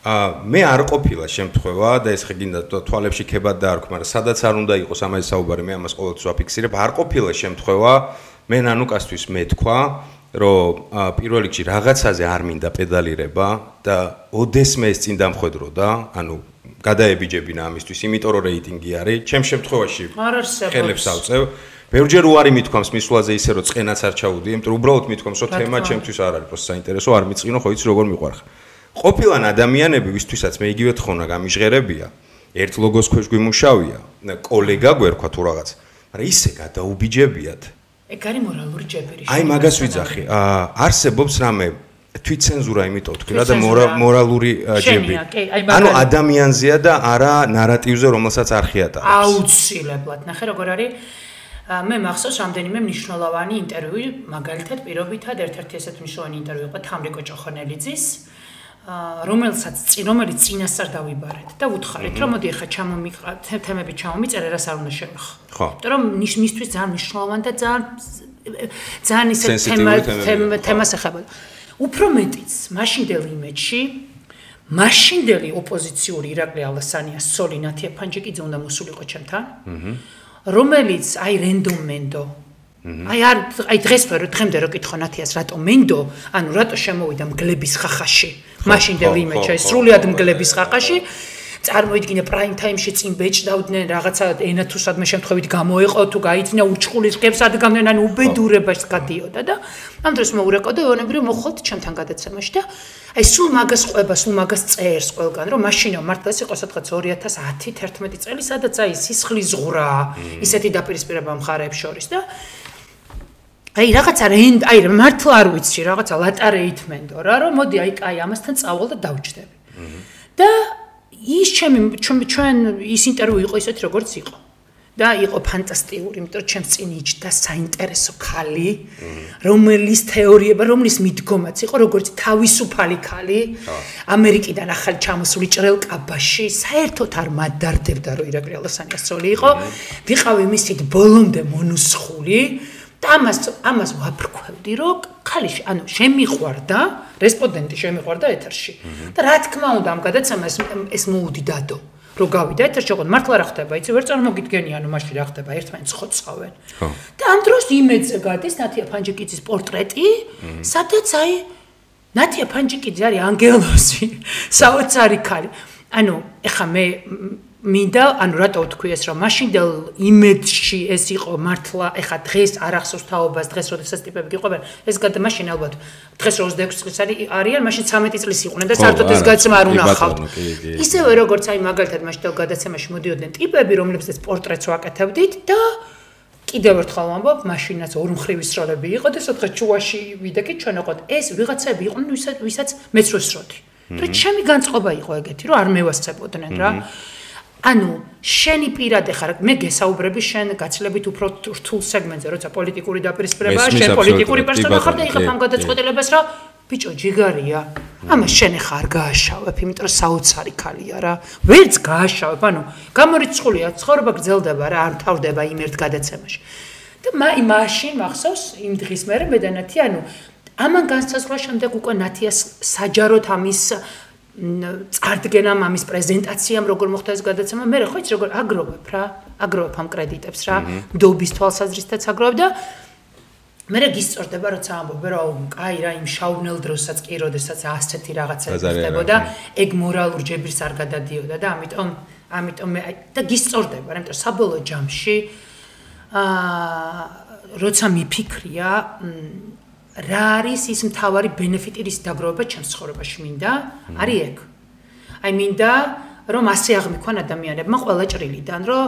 მე არ ყოფილა შემთხვევა და ეს ხეგინდა თვალებში ქებად დაარქვ, მაგრამ სადაც არ უნდა იყოს ამაზე საუბარი, მე ამას ყოველთვის ვაფიქსირებ, არ ყოფილა შემთხვევა, მე ნანუკასთვის მეთქვა, რომ პირველ რიგში რაღაცაზე არ მინდა პედალირება და ოდესმე ეს წინ დამხვედროდა, ანუ გადაებიჯებინა ამისთვის, იმიტომ რომ რეიტინგი არის, ჩემ შემთხვევაში ხელებს ავწევ. ბევრჯერ უარი მithქვამს მისვლაზე ისე რომ წყენაც არ ჩაუდი, იმიტომ რომ უბრალოდ მithქვამს რომ თემა ჩემთვის არ არის პროსტ საინტერესო, არ მიწყინო, ხო იცი როგორ მიყვარხარ. ყოფილან ადამიანები, ვისთვისაც მე იგივე თხოვნა გამიჟღერებია, ერთ ლოგოს ქვეშ გვიმუშავია, კოლეგა გვერქვა თუ რაღაც, მაგრამ ისე გადაუბიჯებიათ. ეგ არის მორალური ჯებირი. აი მაგას ვიძახი. არსებობს რამე თვითცენზურა, იმიტომ თქვი რა და მორალური ჯებირი. ანუ ადამიანზეა და არა ნარატივზე, რომელსაც არ ხიატარებს. აუცილებლად. ნახე როგორ არის. მე მახსოვს რამდენიმე მნიშვნელოვანი ინტერვიუ, მაგალითად პირობითად ერთ-ერთი ესეთ მნიშვნელოვანი ინტერვიუ იყო თამრიკო ჭოხონელიძის. რომელიც წინასწარ დავიბარეთ და ვუთხარით რომ მოდი ახლა ჩამომიყრათ თემები ჩამომიწერე რას არ უნდა შევეხო. ხო. იმიტომ რომ მისთვის ძალიან მნიშვნელოვანი და ძალიან ისე თემას ეხება. უფრო მეტიც მაშინდელ იმედში მაშინდელი ოპოზიციური ირაკლი ალასანიას სოლი ნათია ფანჯიკიძე უნდა მოსულიყო ჩემთან. რომელიც აი რენდომ მენდო აი დღეს დღემდე რო კითხო ნათიას რატო მენდო, ანუ რატო შემოვიდა მგლების ხახაში, მაშინდელ იმედში, სრულიად მგლების ხახაში, წარმოიდგინე პრაიმ ტაიმში წინ ბეჭდავდნენ რაღაცა ენა თუ სადმე შემთხვევით გამოეყო თუ გაიძინა ურჩხულის ღებს ადგამდნენ, ანუ უბედურებას გადიოდა და ამ დროს მოურეკოდა ეონებრივ მოხვალთ ჩემთან გადაცემაში და აი სულ მაგას ყვება, სულ მაგას წერს ყველგან, რომ მაშინო მართლა ეს იყო სადღაც 2010-11 წელი, სადაც აი სისხლის ზღვრა, ისეთი დაპირისპირება მხარეებს შორის და აი რაღაცა აი მართლა არ ვიცი, რაღაცა ლატარეით მენდო რა, რომ მოდი აი ამასთან წავალ და დავჭდები. და ის ჩვენ ის ინტერვიუ იყო ისეთი როგორც იყო. და იყო ფანტასტიკური, იმიტომ რომ ჩემს წინ იჯდა საინტერესო ქალი, რომელიც თეორიება, რომლის მიდგომაც იყო როგორც თავისუფალი ქალი, ამერიკიდან ახალი ჩამოსული ჭრელ კაბაში, საერთოდ არ მადარდებდა, რომ ირაკლი ალასანიასწორი იყო, ვიყავი მისით ბოლომდე მონუსხული და ამას ვაფრქვევდი, რომ ქალი, ანუ შემიყვარდა, რესპონდენტი შემიყვარდა ეთერში. და რა თქმა უნდა, ამ გადაცემას ეს მოუდი დადო. რო გავიდა ეთერში, ოღონდ მართლა რა ხდება, იცი, ვერ წარმოგიდგენი, ანუ მაშინ რა ხდება, ერთმანეთს ხოცავენ. და ამ დროს იმედზე გადის ნათია ფანჯიკიძის პორტრეტი, სადაც აი ნათია ფანჯიკიძე არის ანგელოზი, საოცარი ქალი. ანუ ეხა მე მინდა, ანუ რატო ვთქვი ეს, რომ მაშინდელ იმედში ეს იყო მართლა, ეხა დღეს არ ახსოვს თაობას, დღეს როდესაც ტიპები გიყვებიან, ეს მაშინ ალბათ დღეს 26 წლის არიან, მაშინ 13 წლის იყვნენ და საერთოდ ეს გადაცემა არ უნახავთ. ისევე როგორც აი მაგალითად მაშინდელ გადაცემაში მოდიოდნენ ტიპები, რომლებსაც პორტრეტს ვაკეთებდით და კიდევ ერთხელ ვამბობ, მაშინაც ორმხრივის როლები იყო და სადღაც ჩუაში ვიდექით ჩვენ ოღონდ ეს ვიღაცები იყვნენ, ვისაც მეც ვესროდი. თუ ჩემი განწყობა იყო ეგეთი, რომ არ მევასწრებოდნენ რა. ანუ შენი პირადე ხარ, მე გესაუბრები შენ გაცილებით უფრო რთულ სეგმენტზე, როცა პოლიტიკური დაპირისპირებაა, შენ პოლიტიკური პერსონა ხარ და იღებ ამ გადაწყვეტილებას, რომ ბიჭო ჯიგარია, ამას შენ ხარ გააშავებ, იმიტომ რომ საოცარი ქალია რა. ვერც გააშავებ, ანუ გამორიცხულია, ცხოვრება გრძელდება რა, არ თავდება იმ ერთ გადაცემაში. და მაშინ მახსოვს იმ დღის მერე მე და ნათია, ანუ ამან განსაზღვრა შემდეგ უკვე ნათიას საჯაროდ ამის წარდგენამ ამის პრეზენტაციამ როგორ მოხდა ეს გადაცემა მე ხო იცი როგორ აგროვებ რა აგროვებ ამ კრედიტებს რა დობის თვალსაზრისითაც აგროვებ და მე გისწორდება როცა ამბობ რომ კაი რა იმ შავნელ დროსაც კი როდესაც ასეთი რაღაცა ხდებოდა ეგ მორალურ ჯებირს არ გადადიოდა და ამიტომ მე და გისწორდება რა იმიტომ საბოლოო ჯამში როცა მიფიქრია რა არის ის მთავარი ბენეფიტი რის დაგროვება ჩემს ცხოვრებაში მინდა არის ეგ აი მინდა რომ ასე აღმიქوان ადამიანებმა ყველა ჭრილიდან რომ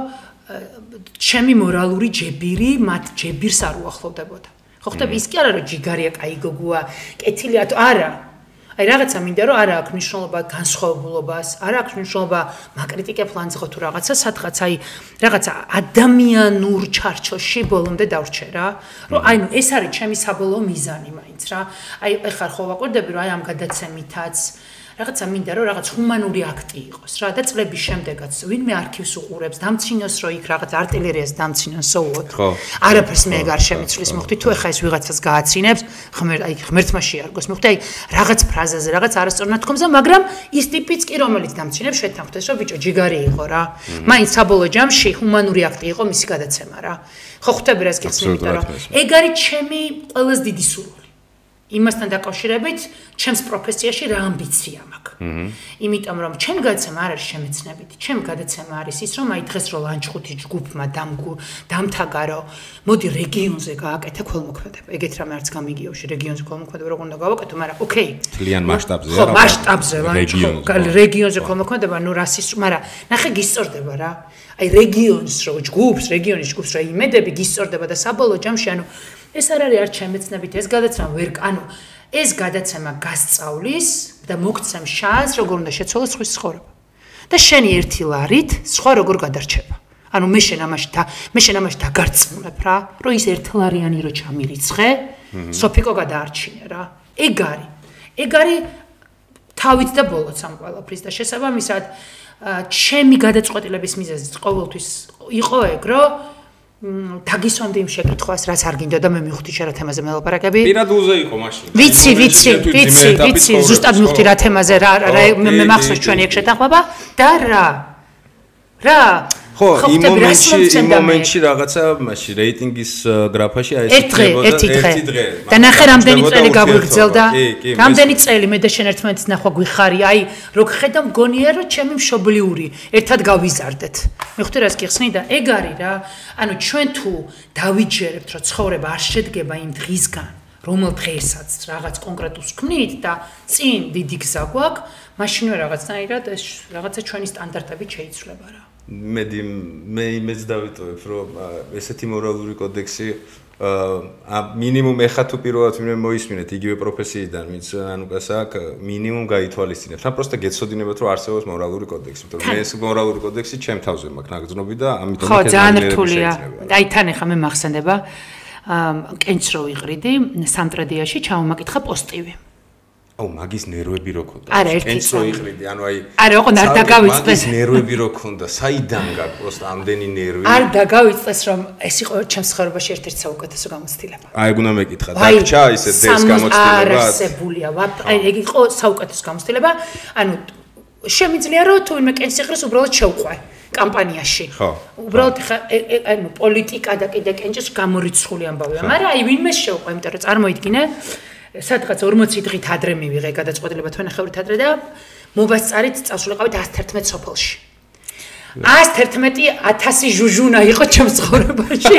ჩემი მორალური ჯებირი მათ ჯებირს არ უახლოვდებოდა ხო ხტები ის კი არა რომ ჯიგარია კაი გოგოა კეთილია თუ არა აი რაღაცა მინდა რომ არა აქვს მნიშვნელობა განსხვავებულობას არა აქვს მნიშვნელობა მაკრიტიკე ფლანზე ხო თუ რაღაცა სადღაც აი რაღაცა ადამიანურ ჩარჩოში ბოლომდე დავრჩე რა რომ აი ნუ ეს არის ჩემი საბოლოო მიზანი მაინც რა აი ეხლა ხო ვაკვირდები რომ აი ამ გადაცემითაც რაღაცა მინდა რომ რაღაც ჰუმანური აქტი იყოს რა და წლების შემდეგაც ვინმე არქივს უყურებს დამცინოს რომ იქ რაღაც არტილერიას დამცინოს სოუოთ არაფერს მე არ შემიცვლის მოხდი თუ ეხა ეს ვიღაცას გააცინებს ღმერთმა შეარგოს მოხდი აი რაღაც ფრაზაზე რაღაც არასწორ ნათქვამზე მაგრამ ის ტიპიც კი რომელიც დამცინებს შეთანხმდეს რომ ბიჭო ჯიგარი იყო რა მაინც საბოლოო ჯამში ჰუმანური აქტი იყო მისი გადაცემა რა ხო ხვდები რას გიხსნით რომ ეგ არის ჩემი ყველაზე დიდი სურვილი იმასთან დაკავშირებით ჩემს პროფესიაში რა ამბიცია მაქვს. იმიტომ რომ ჩემი გადაცემა არ არის შემეცნებითი, ჩემი გადაცემა არის ის რომ აი დღეს რო ლანჩხუთი ჯგუფმა დამთაგა რომ მოდი რეგიონზე გააკეთე ქველმოქმედება. ეგეთ რამე არც გამიგიოში რეგიონზე ქველმოქმედება როგორ უნდა გავაკეთო, მაგრამ ოკეი. ძალიან მასშტაბზე რა. ხო, მასშტაბზე რეგიონზე ქველმოქმედება, ნუ რასის, მაგრამ ნახე გისწორდება რა. აი რეგიონის რო ჯგუფს, რეგიონის ჯგუფს რა იმედები გისწორდება და საბოლოო ჯამში ანუ ეს არ არის არც შემეცნებით ეს გადაცემა ვერ ანუ ეს გადაცემა გასწავლის და მოგცემ შანსს როგორ უნდა შეცვალოს სხვის ცხოვრება და შენი ერთი ლარით სხვა როგორ გადარჩება ანუ მე შენ ამაში დაგარწმუნებ რა რომ ის ერთლარიანი რო ჩამირიცხე სოფიკო გადაარჩინე რა ეგ არის თავით და ბოლოც ამ ყველაფრის და შესაბამისად ჩემი გადაწყვეტილების მიზეზი ყოველთვის იყო ეგ რომ დაგისვამდი იმ შეკითხვას, რაც არ გინდოდა და მე მივხვდი შენ რა თემაზე მელაპარაკები. პირად უზე იყო მაშინ. ვიცი, ზუსტად მივხვდი რა თემაზე რა მე მახსოვს ჩვენი ეგ შეთანხმება და რა ხო, იმ მომენტში რაღაცა მაშინ რეიტინგის გრაფაში აი ეს ერთი დღე. და ნახე რამდენი წელი გაგვიგრძელდა. რამდენი წელი მე და შენ ერთმანეთის ნახვა გვიხარია. აი, რო ხედა მგონია რომ ჩემი მშობლიური ერთად გავიზარდეთ. მივხვდი რას გიხსნი და ეგ არის რა. ანუ ჩვენ თუ დავიჯერებთ რომ ცხოვრება არ შედგება იმ დღისგან, რომელ დღესაც რაღაც კონკრეტულს ქმნით და წინ დიდი გზა გვაქვს, მაშინვე რაღაცნაირად ეს რაღაცა ჩვენი სტანდარტებით შეიცვლება რა. მე იმედს დავიტოვებ რომ ესეთი მორალური კოდექსი მინიმუმ ეხა თუ პირველად ვინმე მოისმინეთ იგივე პროფესიიდან, ვინც ანუკას აქვს, მინიმუმ გაითვალისწინებთ. ან პროსტა გეცოდინებათ, რომ არსებობს მორალური კოდექსი, იმიტომ რომ მე ეს მორალური კოდექსი ჩემ თავზე მაქვს ნაგრძნობი და ამიტომ ხო, ძალიან რთულია. აი თან ეხა მე მახსენდება კენჭს რო ვიყრიდი სამტრედიაში ჩამომაკითხა პოსტივი. აუ მაგის ნერვები რო ქონდა. კენჭს რო იყრიდი, ანუ აი არა, ოღონდ არ დაგავიწყდეს. მაგის ნერვები რო ქონდა, საიდან გაქვს პროსტა ამდენი ნერვი? არ დაგავიწყდეს, რომ ეს იყო ჩემს ცხოვრებაში ერთ-ერთი საუკეთესო გამოცდილება. აი ეგ უნდა მეკითხა, დაგჭა ისე დეს გამოცდილება. არსებულია, აი ეგ იყო საუკეთესო გამოცდილება. ანუ შემიძლია რომ თუ ვინმე კენჭს იყრეს, უბრალოდ შევყვე კამპანიაში. ხო. უბრალოდ ანუ პოლიტიკა და კიდე კენჭის გამორიცხული ამბავია, მაგრამ აი ვინმე შევყვე, იმიტომ რომ წარმოიდგინე სადღაც 40 დღით ადრე მივიღე გადაწყვეტილება თვენახევრით ადრე და მობასწარით წავსულიყავით 111 სოფელში. 111,000 ჟუჟუნა იყო ჩემს ცხოვრებაში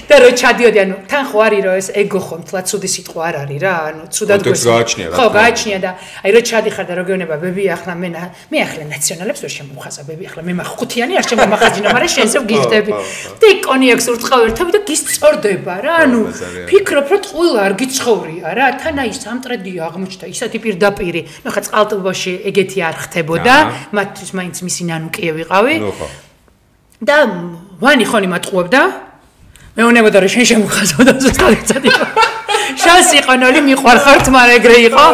და რო ჩადიოდი, ანუ თან ხო არის რომ ეს ეგო ხო მთლად ცუდი სიტყვა არ არის რა, ანუ ცუდად გააჩნია რა. ხო, გააჩნია და აი რო ჩადიხარ და რო გეუბნება ბები ახლა მე ახლა ნაციონალებს ვერ შემომხაზა ბები ახლა მე მახუთიანი არ შემომახაზინა, მაგრამ შენზე ვგიხდები. და კონიაკს ურწყავ ერთები და გისწორდება რა, ანუ ფიქრობ რომ ყველა არ გიცხოვრია რა, თან აი სამტრედი აღმოჩნდა ისეთი პირდაპირი, ნუ ხა წყალტუბოში ეგეთი არ ხდებოდა, მათთვის მაინც მისი ნანუკიე ვიყავი. და ვანი ხონი მატყუებდა მეუნებოდა რომ შენ შემოხაზავდა ზუსტად ეცადი შანსი იყო ნოლი მიყვარხართ მაგრამ ეგრე იყო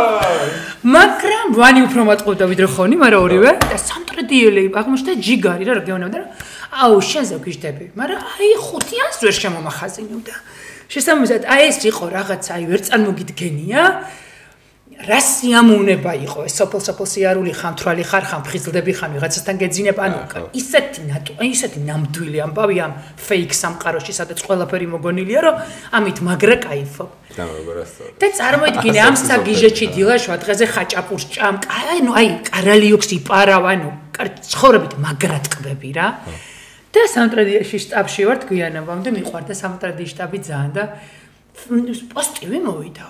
მაგრამ ვანი უფრო მატყუებდა ვიდრე ხონი მაგრამ ორივე და სამტრედიელი აღმოჩნდა ჯიგარი რა გეუბნებოდა რომ აუ შენზე ვგიჟდები მაგრამ აი 500-ს ვერ შემომახაზინებდა შესაბამისად აი ეს იყო რაღაცა აი ვერ წარმოგიდგენია რა სიამოვნება იყო ეს სოფელ სიარული ხამთრალი ხარ ხამ ფხიზლდები ხან ვიღაცასთან გეძინებ ანუ ისეთი ნამდვილი ამბავი ამ ფეიქ სამყაროში სადაც ყველაფერი მოგონილია რომ ამით მაგრა кайფობ და წარმოიდგინე ამ საგიჟეჩი დილაშვა დღეზე ხაჭაპურს ჭამ ანუ აი კარალიოქს იპარავ ანუ ცხოვრებით მაგრა ტკბები რა და სამტრედიაში შტაბში ვარ გვიანობამდე მიყვარდა სამტრედიის შტაბი ძალიან და პოსტივი მოვიდა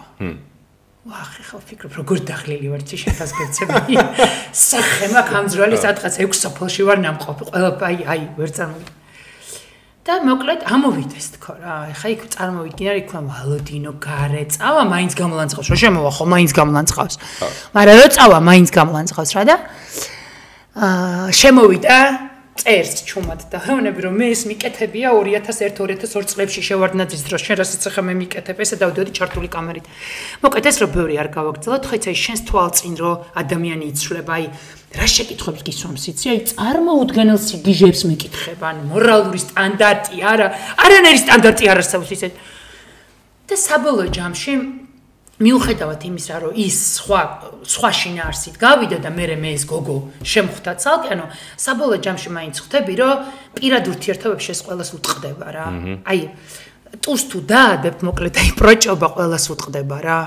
ვახე ხო ფიქრობ როგორ დაღლილი ვარ შეთას გეცები სახე მაქვს ამძრალი სადღაც 6 სოფელში ვარ ნამყოფი ყველა აი ვერ წარმოვიდგინე და მოკლედ ამოვიდეს თქო რა ეხა იქ წარმოვიდგინე რა იქნა ვალოდინო გარე წავა მაინც გამლანძღავს რა შემოვა ხო მაინც გამლანძღავს მაგრამ რო წავა მაინც გამლანძღავს რა და შემოვიდა წერს ჩუმად და ხეუნები რომ მე ეს მიკეთებია 2001-2002 წლებში შევარდნაძის დროს შენ რასაც ახლა მე მიკეთებ ესა დავდიოდი ჩართული კამერით მოკეთ ეს რო ბევრი არ გავაგრძელოთ ხო იცი შენს თვალწინ რო ადამიანი იცვლება აი რა შეკითხვებს გისვამს იცი აი წარმოუდგენელ სიგიჟებს მიკითხება ან მორალური სტანდარტი არანაირი სტანდარტი არ არსებობს ისე და საბოლოო ჯამში მიუხედავად იმისა, რომ ის სხვა შინაარსით გავიდა და მე ეს გოგო შემხვდა ცალკე, ანუ საბოლოო ჯამში მაინც ხვდები, რომ პირად ურთიერთობებში ეს ყველას უტყდება რა. აი, ტურს თუ დაადებ, მოკლედ აი პროჭობა ყველას უტყდება რა.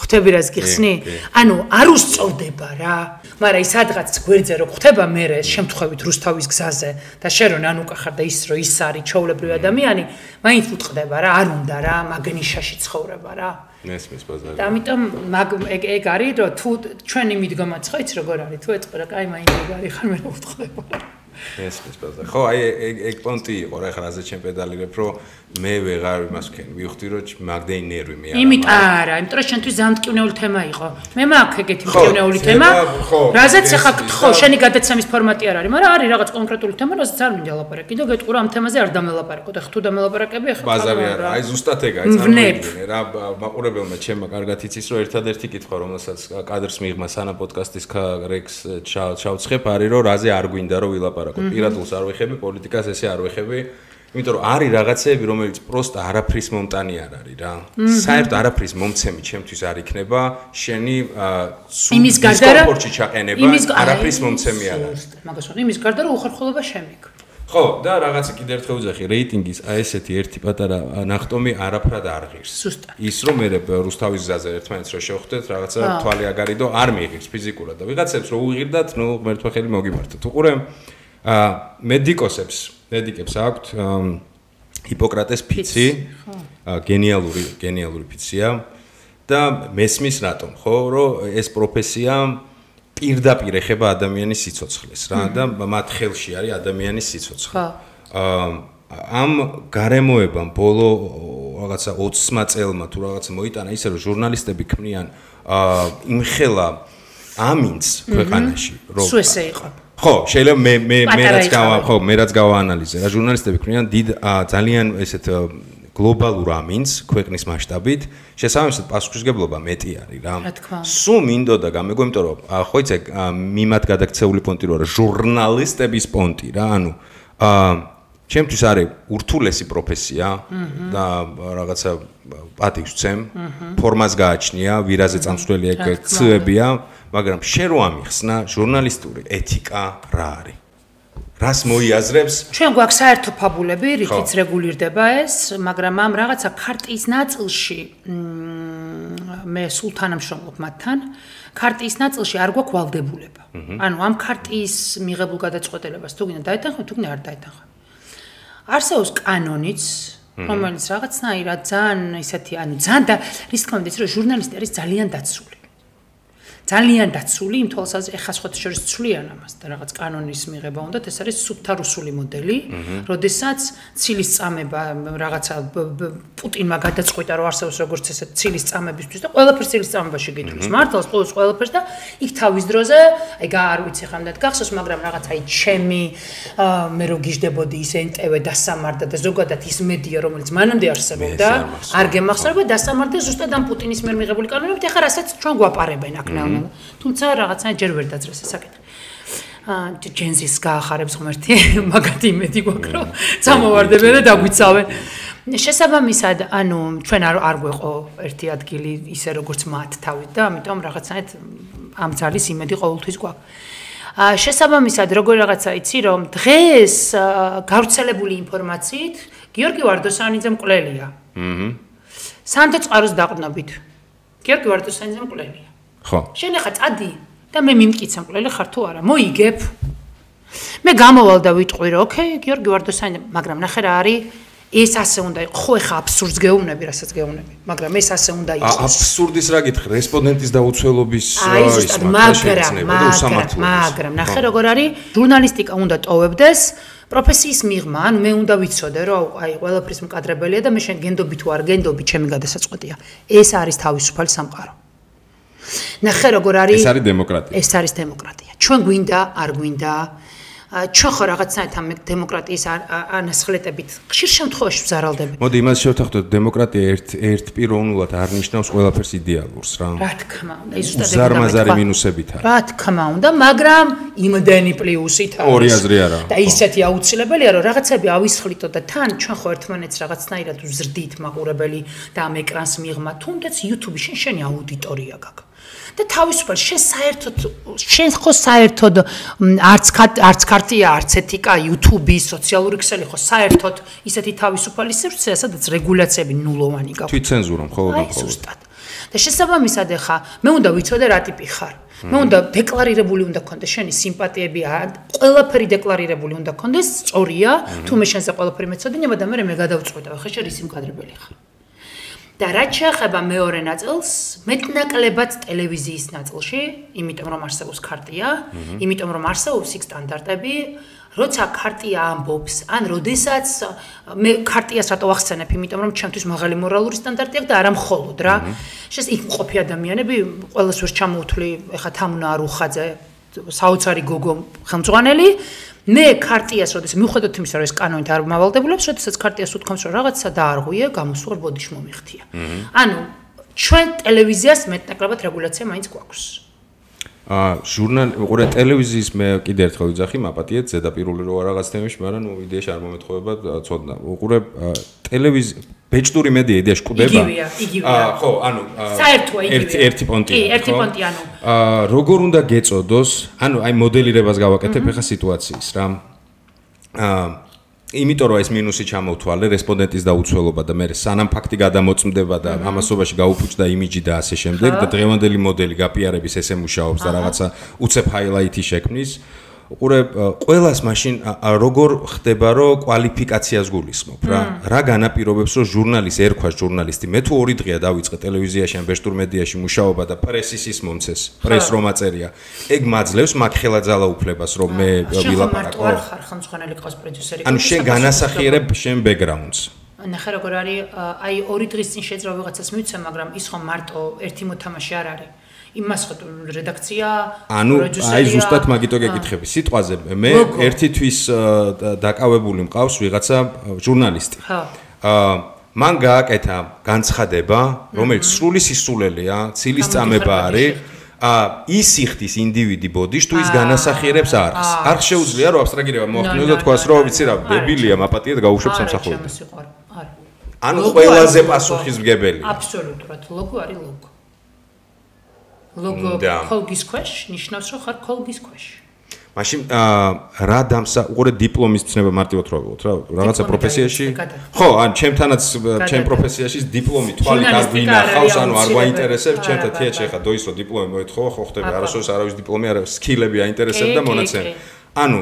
ხვდები რას გიხსნი? ანუ არ უსწორდება რა. მაგრამ ის სადღაც გვერდზე რო ხვდება მე შემთხვევით რუსთავის გზაზე და შენ რო ნანუკა ხარ და ის რო ის არის ჩაულებრივი ადამიანი, მაინც უტყდება რა, არ უნდა რა, მაგნიშაში ცხოვრება რა. მესმის ბაზარი. და ამიტომ ეგ არის რომ თუ ჩვენი მიდგომაც ხო იცი როგორ არის თუ ეწყურა კაი მაინც ეგ არის ხარ მე ვუთხდება. მესმის ბაზარი. ხო აი ეგ პონტი იყო რა ხარ აზე ჩემ პედალირებ რომ მე ვეღარ იმას ვქენი ვიხდი რომ მაგდენი ნერვი მე არა იმიტომ რომ შენთვის ძალიან მტკივნეული თემა იყო მე მაქვს ეგეთი მტკივნეული თემა რაზეც ახლა გთხოვ შენი გადაცემის ფორმატი არ არის მაგრამ არის რაღაც კონკრეტული თემა რაზეც არ მინდა ლაპარაკი კიდევ გეტყურა ამ თემაზე არ დამელაპარაკო და ხთუ დამელაპარაკები ახლა ბაზარი არა აი ზუსტად ეგ აი წარმოიდგინე რა მაყურებელმა ჩემმა კარგად იცის რომ ერთადერთი კითხვა რომელსაც კადრს მიიღმა სანამ პოდკასტის რეკს ჩავცხებ არის რომ რაზე არ გვინდა რომ ვილაპარაკო პირადულს არ ვეხები პოლიტიკას ესე არ ვეხები იმიტომ რომ არის რაღაცეები რომელიც პროსტა არაფრის მომტანი არ არის რა საერთოდ არაფრის მომცემი ჩემთვის არ იქნება შენი იმის გარდა დისკომფორტში ჩაყენება არაფრის მომცემი არ არის მაგას ვთქვი იმის გარდა რომ უხერხულობა შემიგ ხო და რაღაცა კიდე ერთხელ ვიძახი რეიტინგის აი ესეთი ერთი პატარა ნახტომი არაფრად არ ღირს ის რომ მე რუსთავის გზაზე ერთმანეთს რო შევხვდეთ რაღაცა თვალი აგარიდო არ მიიღებს ფიზიკურად და ვიღაცებს რო უღირდათ ნუ ღმერთმა ხელი მოგიმართოთ უყურე მედიკებს აქვთ ჰიპოკრატეს ფიცი გენიალური ფიცია და მესმის რატომ ხო რომ ეს პროფესია პირდაპირ ეხება ადამიანის სიცოცხლეს რა და მათ ხელში არის ადამიანის სიცოცხლე ამ გარემოებამ ბოლო რაღაცა 20 წელმა თუ რაღაცა მოიტანა ისე რომ ჟურნალისტები ქმნიან იმხელა ამინც ქვეყანაში რომ სულ ესე იყო ხო შეიძლება მე რაც გავაანალიზე რა ჟურნალისტები ქმნიან დიდ ძალიან ესეთ გლობალურ ამინს ქვეყნის მასშტაბით შესაბამისად პასუხისგებლობა მეტი არის რა სულ მინდოდა გამეგო იმიტომ რომ ხო იცი მიმად გადაქცეული პონტი რო არა ჟურნალისტების პონტი რა ანუ ჩემთვის არის ურთულესი პროფესია და რაღაცა პატივს ვცემ ფორმას გააჩნია ვირაზე წამსვლელია კეცებია მაგრამ შენ რო ამიხსნა ჟურნალისტური ეთიკა რა არის რას მოიაზრებს ჩვენ გვაქვს საერთო ფაბულები რითიც რეგულირდება ეს მაგრამ ამ რაღაცა ქარტიის ნაწილში მე სულ თანამშრომლობ მათთან ქარტიის ნაწილში არ გვაქვს ვალდებულება ანუ ამ ქარტიის მიღებულ გადაწყვეტილებას თუ გინდა დაეთანხმოთ თუ გინდა არ დაეთანხმოთ არსებობს კანონიც რომელიც რაღაცნაირად ძალიან ისეთი ანუ ძალიან და რის თქმა უნდა ის რომ ჟურნალისტი არის ძალიან დაცული იმ თვალსაზრისით ეხა სხვა შორის ცვლიან ამას და რაღაც კანონის მიღება უნდათ ეს არის სუფთა რუსული მოდელი როდესაც ცილის წამება რაღაცა პუტინმა გადაწყვიტა რომ არსებობს როგორც ესეთ ცილის წამებისთვის და ყველაფერს ცილის წამებაში გითხოვს მართლაც ყველაფერს და იქ თავის დროზე აი არ ვიცი ხამდე გახსოვს მაგრამ რაღაც აი ჩემი მე რო გიждდებოდი ის NTV დასამარდა და ზოგადად ის მედია რომელიც მანამდე არსებობდა არ გემახსოვრება დასამარდა ზუსტად ამ პუტინის მიერ მიღებული კანონებით ეხა რასაც ჩვენ გვაპარებენ აქ თუმცა რაღაცა ჯერ ვერ დაძრეს ეს საკითხი. ჯენზის გაახარებს ღმერთი, მაგათი იმედი გვაქვს რომ წამოვარდებენ და დაგვიცავენ. შესაბამისად, ანუ ჩვენ არ გვეყო ერთი ადგილი ისე როგორც მათ თავით და ამიტომ რაღაცნაირად ამ ძალის იმედი ყოველთვის გვაქვს. შესაბამისად, როგორ რაღაცა იცი რომ დღეს გავრცელებული ინფორმაციით გიორგი ვარდოსანიძე მკვლელია. სანდო წყაროს დაყრდნობით. გიორგი ვარდოსანიძე მკვლელია. ხო. შენ ახლა წადი და მე მიმკიცა მკვლელი ხარ თუ არა? მოიგებ. მე გამოვალ და ვიტყვი რომ ოკეი, გიორგი ვარდოსანიძე, მაგრამ ნახე რა არის, ეს ასე უნდა იყოს. ხო, ახლა აბსურდს გეუბნები, რასაც გეუბნები, მაგრამ ეს ასე უნდა იყოს. აბსურდის რა გითხრი, რესპონდენტის დაუცველობის მაგრამ ნახე როგორ არის, ჟურნალისტიკა უნდა ტოვებდეს. პროფესიის მიღმა, ანუ მე უნდა ვიცოდე, რომ აი ყველაფრის მკადრებელია და მე შენ გენდობი თუ არ გენდობი, ჩემი გადასაწყვეტია. ეს არის თავისუფალი სამყარო. ნახე როგორ არის ეს არის დემოკრატია. ეს არის დემოკრატია. ჩვენ გვინდა, არ გვინდა. ჩვენ ხო რაღაცნაირად ამ დემოკრატიის ანასხლეტებით ხშირ შემთხვევაში ვზარალდები. მოდი იმას შევთანხმდეთ, დემოკრატია ერთპიროვნულად არ ნიშნავს ყველაფერს იდეალურს რა. რა თქმა უნდა, ის ზუსტად ზარმაზარი მინუსებით არის. რა თქმა უნდა, მაგრამ იმდენი პლუსით არის. ორი აზრი არა. და ისეთი აუცილებელია, რომ რაღაცები ავისხლიტო და თან ჩვენ ხო ერთმანეთს რაღაცნაირად ვზრდით მაყურებელი და ამ ეკრანს მიღმა, თუნდაც YouTube-ში შენი აუდიტორია გაქვს. და თავისუფალ შენ ხო საერთოდ არც ქარტია, არც ეთიკა, YouTube-ის, სოციალური ქსელი ხო საერთოდ ისეთი თავისუფალი სივრცეა, სადაც რეგულაციები ნულოვანი გაქვს. თვითცენზურა მხოლოდ. და შესაბამისად ახლა მე უნდა ვიცოდე რა ტიპი ხარ. მე უნდა დეკლარირებული უნდა გქონდეს შენი სიმპათიები, ყველაფერი დეკლარირებული უნდა გქონდეს, სწორია, თუ მე შენზე ყველაფერი მეცოდინება და მე გადავწყვეტავ, ხა შენ ისი მკადრებელი ხარ. და რაც შეეხება მეორე ნაწილს, მეტნაკლებად ტელევიზიის ნაწილში, იმიტომ რომ არსებობს ქარტია, იმიტომ რომ არსებობს იქ სტანდარტები, როცა ქარტია ამბობს, ან როდესაც მე ქარტიას რატო ახსენებ, იმიტომ რომ ჩემთვის მაღალი მორალური სტანდარტი აქვს და არა მხოლოდ რა. შეს იქ მყოფი ადამიანები, ყველას ვერ ჩამოუთვლი, ეხა თამუნა არუხაძე, საოცარი გოგო ხელმძღვანელი მე ქარტიას როდესაც მიუხედავად იმისა რომ ეს კანონით არ მავალდებულებს, როდესაც ქარტიას უთქვამს რომ რაღაცა დაარღვია, გამოსვარ ბოდიში მომიხთია. ანუ ჩვენ ტელევიზიას მეტნაკლებად რეგულაცია მაინც გვაქვს. ჟურნალი, ტელევიზიის მე კიდე ერთხელ ვიძახი, მაპატიეთ ზედაპირული რო რაღაც თემებში, მაგრამ ნუ იდეაში არ მომეთხოვება ცოდნა. უყურე ტელევიზია ბეჭდური მედია იდეაში კვდება. იგივეა. ხო, ანუ საერთოა იგივეა. ერთი პონტია. კი, ერთი პონტი ანუ. როგორ უნდა გეწოდოს, ანუ აი მოდელირებას გავაკეთებ ახლა სიტუაციის რა. იმიტომ რომ ეს მინუსი ჩამოვთვალე, რესპონდენტის დაუცველობა და მე სანამ ფაქტი გადამოწმდება და ამასობაში გაუფუჭდა იმიჯი და ასე შემდეგ და დღევანდელი მოდელი გაპიარების ესე მუშაობს და რაღაცა უცებ ჰაილაითი შექმნის. უყურე, ყველას მაშინ როგორ ხდება რომ კვალიფიკაციას გულისხმობ რა. რა განაპირობებს რომ ჟურნალისტი ერქვას ჟურნალისტი, მე თუ 2 დღეა დავიწყე ტელევიზიაში ან ბეჭდურ მედიაში მუშაობა და პრესის ის მომცეს, პრეს რომ აწერია. ეგ მაძლევს მაგ ხელაძალა უფლებას რომ მე ვილაპარაკო. შენ ხარ ხელმძღვანელი ყავს პროდიუსერი. ანუ შენ განასახიერებ შენ ბექგრაუნდს. ნახე როგორ არის აი 2 დღის წინ შეძრა ვიღაცას მივცე, მაგრამ ის ხომ მარტო ერთი მოთამაშე არ არის. იმას ხო რედაქცია, პროდიუსერია. აი ზუსტად მაგიტო გეკითხები. სიტყვაზე მე ერთი თვის დაკავებული მყავს ვიღაცა ჟურნალისტი. ხო. მან გააკეთა განცხადება, რომელიც სრული სისულელეა, ცილის წამება არის. ის იხდის ინდივიდი ბოდიშ თუ ის განასახიერებს არხს. არხს შეუძლია რომ აბსტრაგირება მოახდინოს და თქვას რომ ვიცი რა, დებილია, მაპატიეთ გაუშვებს სამსახურებას. ანუ ყველაზე პასუხისმგებელია. აბსოლუტურად, ლოგო არის ლოგო. ლოგო კოლგის ქვეშ ნიშნავს რომ ხარ კოლგის ქვეშ. მაშინ რა უყურე დიპლომის ცნება მარტივად რა ვიყოთ რა რაღაცა პროფესიაში ხო ან ჩემთანაც ჩემ პროფესიაში დიპლომი თვალით არ გვინახავს ანუ არ გვაინტერესებს ჩემთან თეატრში ხა დოისო დიპლომი მოეთხოვა ხო ხტები არასოდეს არავის დიპლომი არა სკილები აინტერესებდა მონაცემი ანუ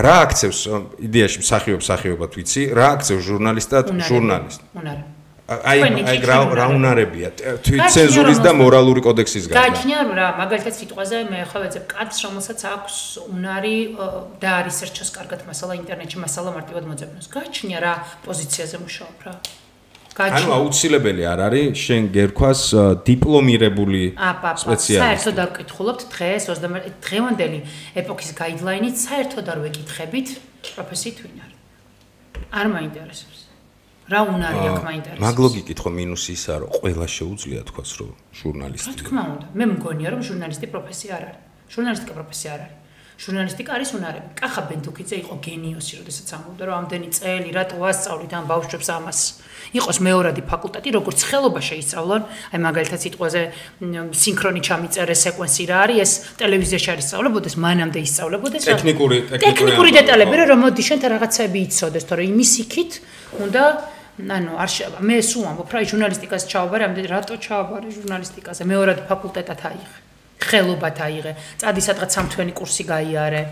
რა აქცევს იდეაში მსახიობად ვიცი რა აქცევს ჟურნალისტად ჟურნალისტ აი რა უნარებია თვითცენზურის და მორალური კოდექსის გარდა. გააჩნია რა, მაგალითად სიტყვაზე მე ხო ვეძებ კაცს, რომელსაც აქვს უნარი და რისერჩოს კარგად მასალა ინტერნეტში, მასალა მარტივად მოძებნოს. გააჩნია რა პოზიციაზე მუშაობ რა. ანუ აუცილებელი არ არის შენ გერქვას დიპლომირებული სპეციალისტი. საერთოდ არ ვკითხულობთ დღეს 21 დღევანდელი ეპოქის გაიდლაინით საერთოდ არ ვეკითხებით პროფესიით ვინ არის. არ მაინტერესებს. რა უნარი აქვს მაინტერესებს. მაგ ლოგიკით ხო მინუსი ისაა რომ ყველა შეუძლია თქვას რომ ჟურნალისტი. რა თქმა უნდა, მე მგონია რომ ჟურნალისტი პროფესია არ არის. ჟურნალისტიკა პროფესია არ არის. ჟურნალისტიკა არის უნარები. კახა ბენდუკიძე იყო გენიოსი, როდესაც ამბობდა რომ ამდენი წელი რატო ვასწავლით ამ ბავშვებს ამას. იყოს მეორადი ფაკულტეტი, როგორც ხელობა შეისწავლონ, აი მაგალითად სიტყვაზე სინქრონი ჩამიწერე სეკვენსი რა არის, ეს ტელევიზიაში არის სწავლებოდეს, მანამდე ისწავლებოდეს. ტექნიკური დეტალები, რომ მოდი შენთან რაღაცები იცოდეს, თორე იმის იქით უნდა ანუ არ მე სულ ამბობ რა ჟურნალისტიკას ჩავაბარე, ამდენ რატო ჩავაბარე ჟურნალისტიკაზე? მეორადი ფაკულტეტად აიღე. ხელობათ აიღე. წადი სადღაც სამთვენი კურსი გაიარე.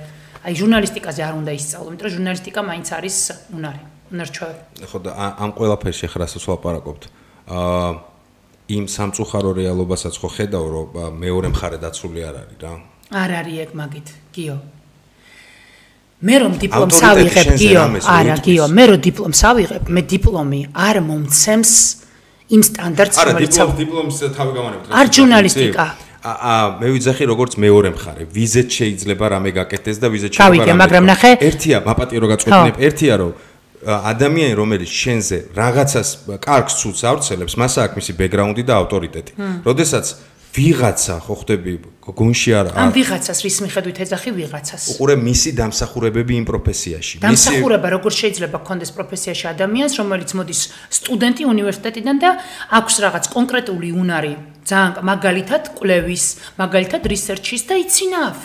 აი ჟურნალისტიკაზე არ უნდა ისწავლო, იმიტომ რომ ჟურნალისტიკა მაინც არის უნარი. უნარჩვევი. ხო და ამ ყველაფერში ახლა რასაც ვლაპარაკობთ. იმ სამწუხარო რეალობასაც ხო ხედავ რომ მეორე მხარე დაცული არ არის რა. არ არის ეგ მაგით, გიო. მე რომ დიპლომს ავიღებ, გიო, არა, გიო, მე რომ დიპლომს ავიღებ, მე დიპლომი არ მომცემს იმ სტანდარტს, რომელიც არა, დიპლომს თავი გავანებთ. არ ჟურნალისტიკა. მე ვიძახი როგორც მეორე მხარე, ვიზეთ შეიძლება რამე გაკეთდეს და ვიზეთ შეიძლება გავიგე, მაგრამ ნახე, ერთია, მაპატიო რო გაწყვეტნებ, ერთია რომ ადამიანი რომელიც შენზე რაღაცას კარგს ცუდს ავრცელებს, მას აქვს მისი ბექგრაუნდი და ავტორიტეტი. როდესაც ვიღაცა ხო ხდები გონში არა ამ ვიღაცას რის მიხედვით ეძახი ვიღაცას უყურე მისი დამსახურებები იმ პროფესიაში დამსახურება როგორ შეიძლება გქონდეს პროფესიაში ადამიანს რომელიც მოდის სტუდენტი უნივერსიტეტიდან და აქვს რაღაც კონკრეტული უნარი ძალიან მაგალითად კვლევის მაგალითად რისერჩის და იცინავ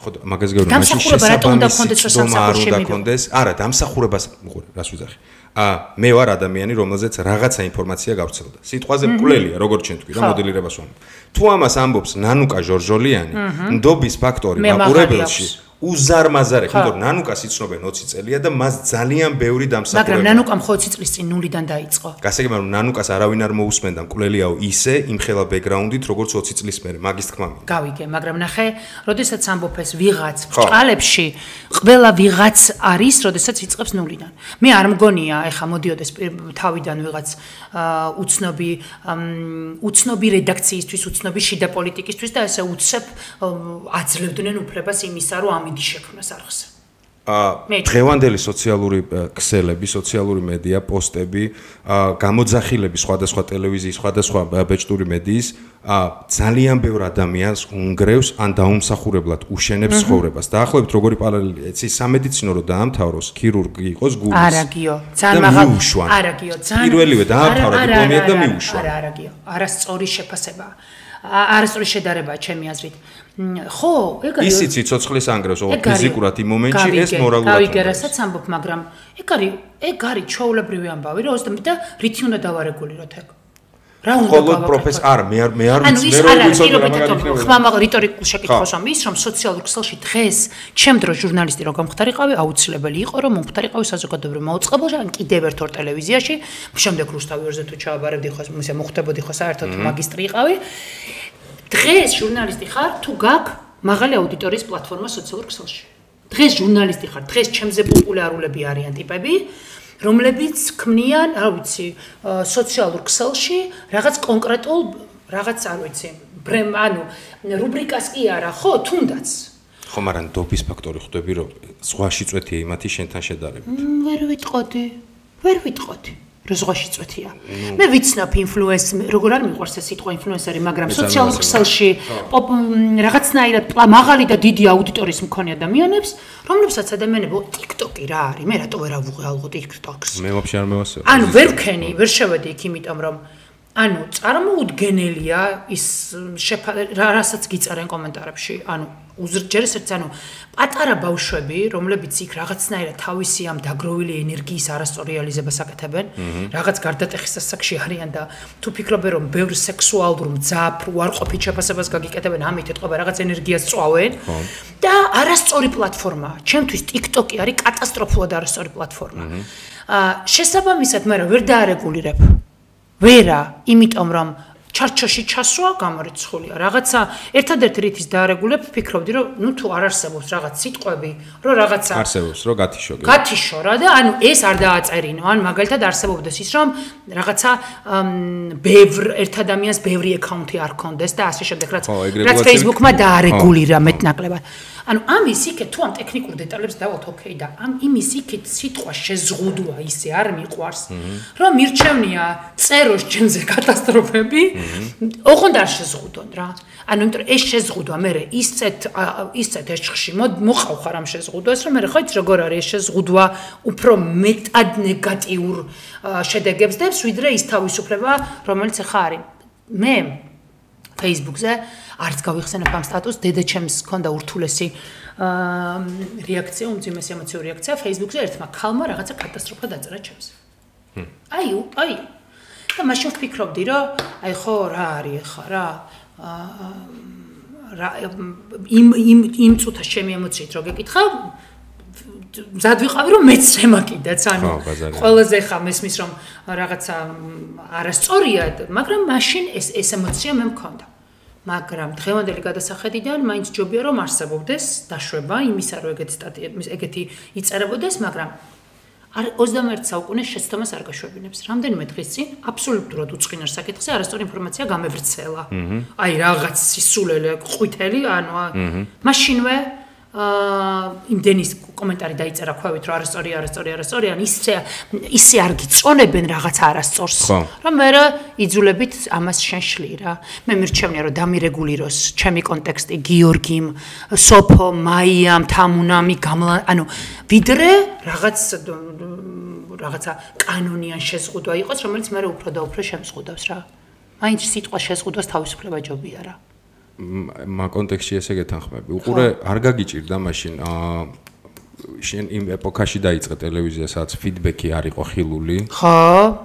ხო მაგას გეუბნები მაშინ შესაბამისი არა დამსახურებას უყურე რას ვიძახი მე ვარ ადამიანი რომელზეც რაღაცა ინფორმაცია გავრცელდა სიტყვაზე მკვლელია როგორც ჩვენ თქვი რა მოდელირებას ვამბობ თუ ამას ამბობს ნანუკა ჟორჟოლიანი ნდობის ფაქტორი მაყურებელში უზარმაზარი იმიტომ რომ ნანუკას იცნობენ 20 წელია და მას ძალიან ბევრი დამსახურება მაგრამ ნანუკამ 20 წლის წინ ნულიდან დაიწყო გასაგებია რომ ნანუკას არავინ არ მოусმენდა მკვლელიაო ისე იმხელა ბექგრაუნდით როგორც 20 წლის მერე მაგის თქმა მინდა გავიგე მაგრამ ნახე როდესაც ამბობ ეს ვიღაც ბჭყალებში ყველა ვიღაც არის როდესაც იწყებს ნულიდან მე არ მგონია ეხა მოდიოდეს თავიდან ვიღაც უცნობი რედაქციისთვის უცნობი შიდა პოლიტიკისთვის და ესე უცებ აძლევდნენ უფლებას იმისა რომ შექმნას არხს. დღევანდელი სოციალური ქსელები, სოციალური მედია, პოსტები, გამოძახილები სხვადასხვა ტელევიზიის, სხვადასხვა ბეჭდური მედიის ძალიან ბევრ ადამიანს უნგრევს ან დაუმსახურებლად უშენებს ცხოვრებას. დაახლოებით როგორი პარალელი, ეცი სამედიცინო რო დაამთავროს, ქირურგი იყოს გულის. არა გიო, ძალიან მაღალ. არა გიო, ძალიან. პირველივე დაამთავრა დიპლომი და მიუშვა. არა გიო, არასწორი შეფასება. არასწორი შედარებაა ჩემი აზრით. ხო, ეგ არის. ისიც ცოცხლის ანგრევს, ოღონდ ფიზიკურად იმ მომენტში ეს მორალურად. გავიგე, რასაც ამბობ, მაგრამ ეგ არის ჩაულებრივი ამბავი, რომ და რითი უნდა დავარეგულიროთ ეგ. რა უნდა გავაკეთოთ? ხოლო პროფესორ არ მე ვიცი, მე რო ვიცოდი რა მაგალითად. ხმამა რიტორიკულ შეკითხვას ამ ის რომ სოციალურ ქსელში დღეს ჩემ დროს ჟურნალისტი რო გამختارიყავი, აუცილებელი იყო რომ მომختارიყავი საზოგადოებრივ მოუწყებელში, ან კიდევ ერთ ორ ტელევიზიაში, შემდეგ რუსთავი 2-ზე თუ ჩავაბარებდი ხო, ისე მოხდებოდი ხო საერთოდ მაგისტრი იყავი. დღეს ჟურნალისტი ხარ თუ გაკ მაღალი აუდიტორიის პლატფორმა სოციალურ ქსელში. დღეს ჟურნალისტი ხარ, დღეს ჩემზე პოპულარულები არიან ტიპები, რომლებიც ქმნიან, არ ვიცი, სოციალურ ქსელში რაღაც კონკრეტულ რაღაც, არ ვიცი, ანუ რუბრიკას კი არა, ხო, თუნდაც. ხო, მაგრამ დობის ფაქტორი ხვდები, რომ ზღვაში წვეთია იმათი შენთან შედარებით. ვერ ვიტყოდი. რო ზღვაში წვეთია. მე ვიცნობ როგორ არ მიყვარს ეს სიტყვა ინფლუენსერი, მაგრამ სოციალურ ქსელში რაღაცნაირად მაღალი და დიდი აუდიტორიის მქონე ადამიანებს, რომლებსაც ადამიანები TikTok-ი რა არის, მე რატო ვერ ავუღე ალბათ TikTok-ს. მე ვაფშე არ მევასწრებ. ანუ ვერ ვქენი, ვერ შევედი იქ, იმიტომ რომ ანუ წარმოუდგენელია ის რასაც გიწერენ კომენტარებში, ანუ უზრჯერ ესეც ანუ პატარა ბავშვები, რომლებიც იქ რაღაცნაირად თავისი ამ დაგროვილი ენერგიის არასწორ რეალიზებას აკეთებენ, რაღაც გარდატეხის სასაკში არიან და თუ ფიქრობენ რომ ბევრ სექსუალურ მძაფ უარყოფით შეფასებას გაგიკეთებენ, ამით ეთყობა რაღაც ენერგიას წვავენ და არასწორი პლატფორმაა. ჩემთვის TikTok-ი არის კატასტროფულად არასწორი პლატფორმა. შესაბამისად, მაგრამ ვერ დაარეგულირებ. ვერა, იმიტომ რომ ჩარჩოში ჩასვა გამორიცხულია. რაღაცა ერთადერთი რითიც დაარეგულებ, ფიქრობდი რომ ნუ თუ არ არსებობს რაღაც სიტყვები, რომ რაღაცა არსებობს, რომ გათიშო. გათიშო რა და ანუ ეს არ დააწერინო. ან მაგალითად არსებობდეს ის რომ რაღაცა ბევრ ერთ ადამიანს ბევრი აკაუნთი არ ქონდეს და ასე შემდეგ რაც Facebook-მა დაარეგულირა მეტნაკლებად. ანუ ამის იქეთ თუ ამ ტექნიკურ დეტალებს დავალთ ოკეი და ამ იმის იქით სიტყვა შეზღუდვა ისე არ მიყვარს რომ მირჩევნია წეროს ჩემზე კატასტროფები ოღონდ არ შეზღუდონ რა ანუ იმიტომ ეს შეზღუდვა მე ისეთ ეშხში მოყავ ხარ ამ შეზღუდვას რომ მე ხო იცი როგორ არის ეს შეზღუდვა უფრო მეტად ნეგატიურ შედეგებს დებს ვიდრე ის თავისუფლება რომელიც ახლა არის მე Facebook-ზე არც გავიხსენებ ამ სტატუსს, დედაჩემს ჰქონდა ურთულესი რეაქცია, უმძიმესი ემოციური რეაქცია Facebook-ზე ერთმა ქალმა რაღაცა კატასტროფა დაწერა ჩემს. აი. და მაშინ ვფიქრობდი, რომ აი ხო რა არის ხა რა იმ წუთას ჩემი ემოციით რო გეკითხა მზად ვიყავი რომ მეც შემაკიდაც ანუ ყველაზე ხა მესმის რომ რაღაცა არასწორია მაგრამ მაშინ ეს ემოცია მე მქონდა მაგრამ დღევანდელი გადასახედიდან მაინც ჯობია რომ არსებობდეს დაშვება იმისა რომ ეგეთი იწერებოდეს მაგრამ 21 საუკუნეს შეცდომას არ გაშვებინებს რამდენიმე დღის წინ აბსოლუტურად უწყინარ საკითხზე არასწორი ინფორმაცია გამევრცელა აი რაღაც სისულელე ყვითელი ანუ მაშინვე იმდენის კომენტარი დაიწერა ქვევით რომ არასწორი ან ისე არ გიწონებენ რაღაც არასწორს რომ მე იძულებით ამას შენშლი რა მე მირჩევნია რომ დამირეგულიროს ჩემი კონტექსტი გიორგიმ სოფო მაიამ თამუნამი ანუ ვიდრე რაღაცა კანონიან შეზღუდვა იყოს რომელიც მე უფრო და უფრო შემზღუდავს რა მაინც სიტყვა შეზღუდვას თავისუფლება ჯობია რა მაგ კონტექსტში ესე გეთანხმები. უყურე არ გაგიჭირდა მაშინ შენ იმ ეპოქაში დაიწყე ტელევიზია, სადაც ფიდბექი არ იყო ხილული. ხო.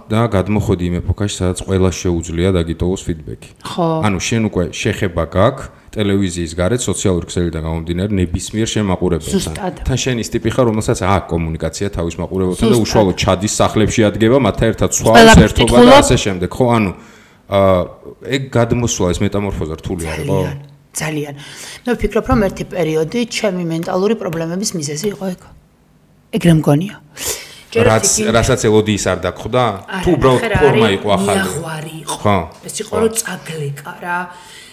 და გადმოხვედი იმ ეპოქაში, სადაც ყველა შეუძლია დაგიტოვოს ფიდბექი. ხო. ანუ შენ უკვე შეხება გაქვს ტელევიზიის გარეთ სოციალური ქსელიდან გამომდინარე ნებისმიერ შემაყურებელთან. თან შენ ის ტიპი ხარ, რომელსაც აქვს კომუნიკაცია თავის მაყურებელთან და უშუალოდ ჩადის სახლებში ადგება, მათთან ერთად სვავს ერთობა და ასე შემდეგ. ხო, ანუ ეგ გადმოსვლა ეს მეტამორფოზა რთული არ იყო? ძალიან. მე ვფიქრობ, რომ ერთი პერიოდი ჩემი მენტალური პრობლემების მიზეზი იყო ეგ. ეგრე მგონია. რასაც ელოდიის არ დაგხვდა? თუ უბრალოდ ფორმა იყო ახალი. მიაღვარი იყო. ეს იყო რომ წაგლეკა რა.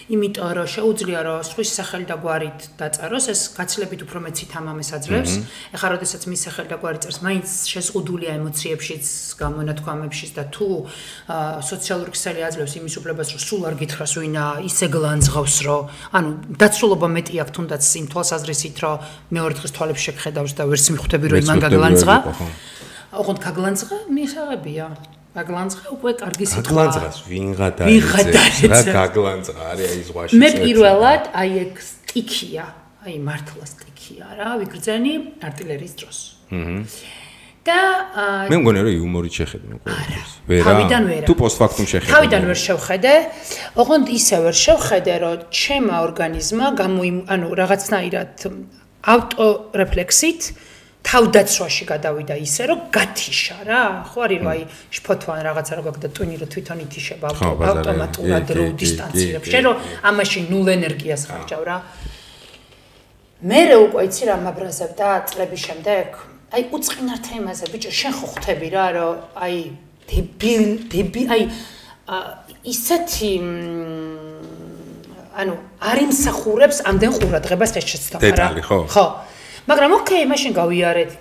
იმიტომ რომ შეუძლია რომ სხვის სახელი და გვარით დაწეროს, ეს გაცილებით უფრო მეცით ამამეს აძლევს. ეხლა როდესაც მის სახელი და გვარი წერს, მაინც შეზღუდულია ემოციებშიც, გამონათქვამებშიც და თუ სოციალური ქსელი აძლევს იმის უფლებას, რომ სულ არ გითხრას ვინა, ისე გლანძღავს, რომ ანუ დაცულობა მეტი აქვს თუნდაც იმ თვალსაზრისით, რომ მეორე დღეს თვალებს შეგხედავს და ვერც მიხვდები, რომ იმან გაგლანძღა. ოღონდ გაგლანძღა მიხარებია. გაგლანძღა უკვე კარგი სიტყვა. გაგლანძღას ვინღა დაიწყეს რა გაგლანძღა არის აი ზღვაში. მე პირველად აი ეგ სტიქია, აი მართლა სტიქია რა, ვიგრძენი артиლერიის დროს. და მე მგონია რომ იუმორით შეხედე ყოველთვის. ვერა. თუ პოსტფაქტუმ შეხედე. თავიდან ვერ შევხედე. ოღონდ ისე ვერ შევხედე, რომ ჩემმა ორგანიზმმა ანუ რაღაცნაირად ავტორეფლექსით თავდაცვაში გადავიდა ისე რომ გათიშა რა ხო არის რომ აი შფოთვან რაღაცა რო გაგდა ტვინი რო თვითონ ითიშება ავტომატურად რო დისტანცირებს შენ რომ ამაში ნულ ენერგიას ხარჯავ რა მე უკვე იცი რა მაბრაზებ და წლების შემდეგ აი უწყინარ თემაზე ბიჭო შენ ხო ხვდები რა რომ აი დები აი ისეთი ანუ არ იმსახურებს ამდენ ყურადღებას ეს შეცდომა რა. დეტალი ხო? ხო. მაგრამ ოკეი, მაშინ გავიარეთ,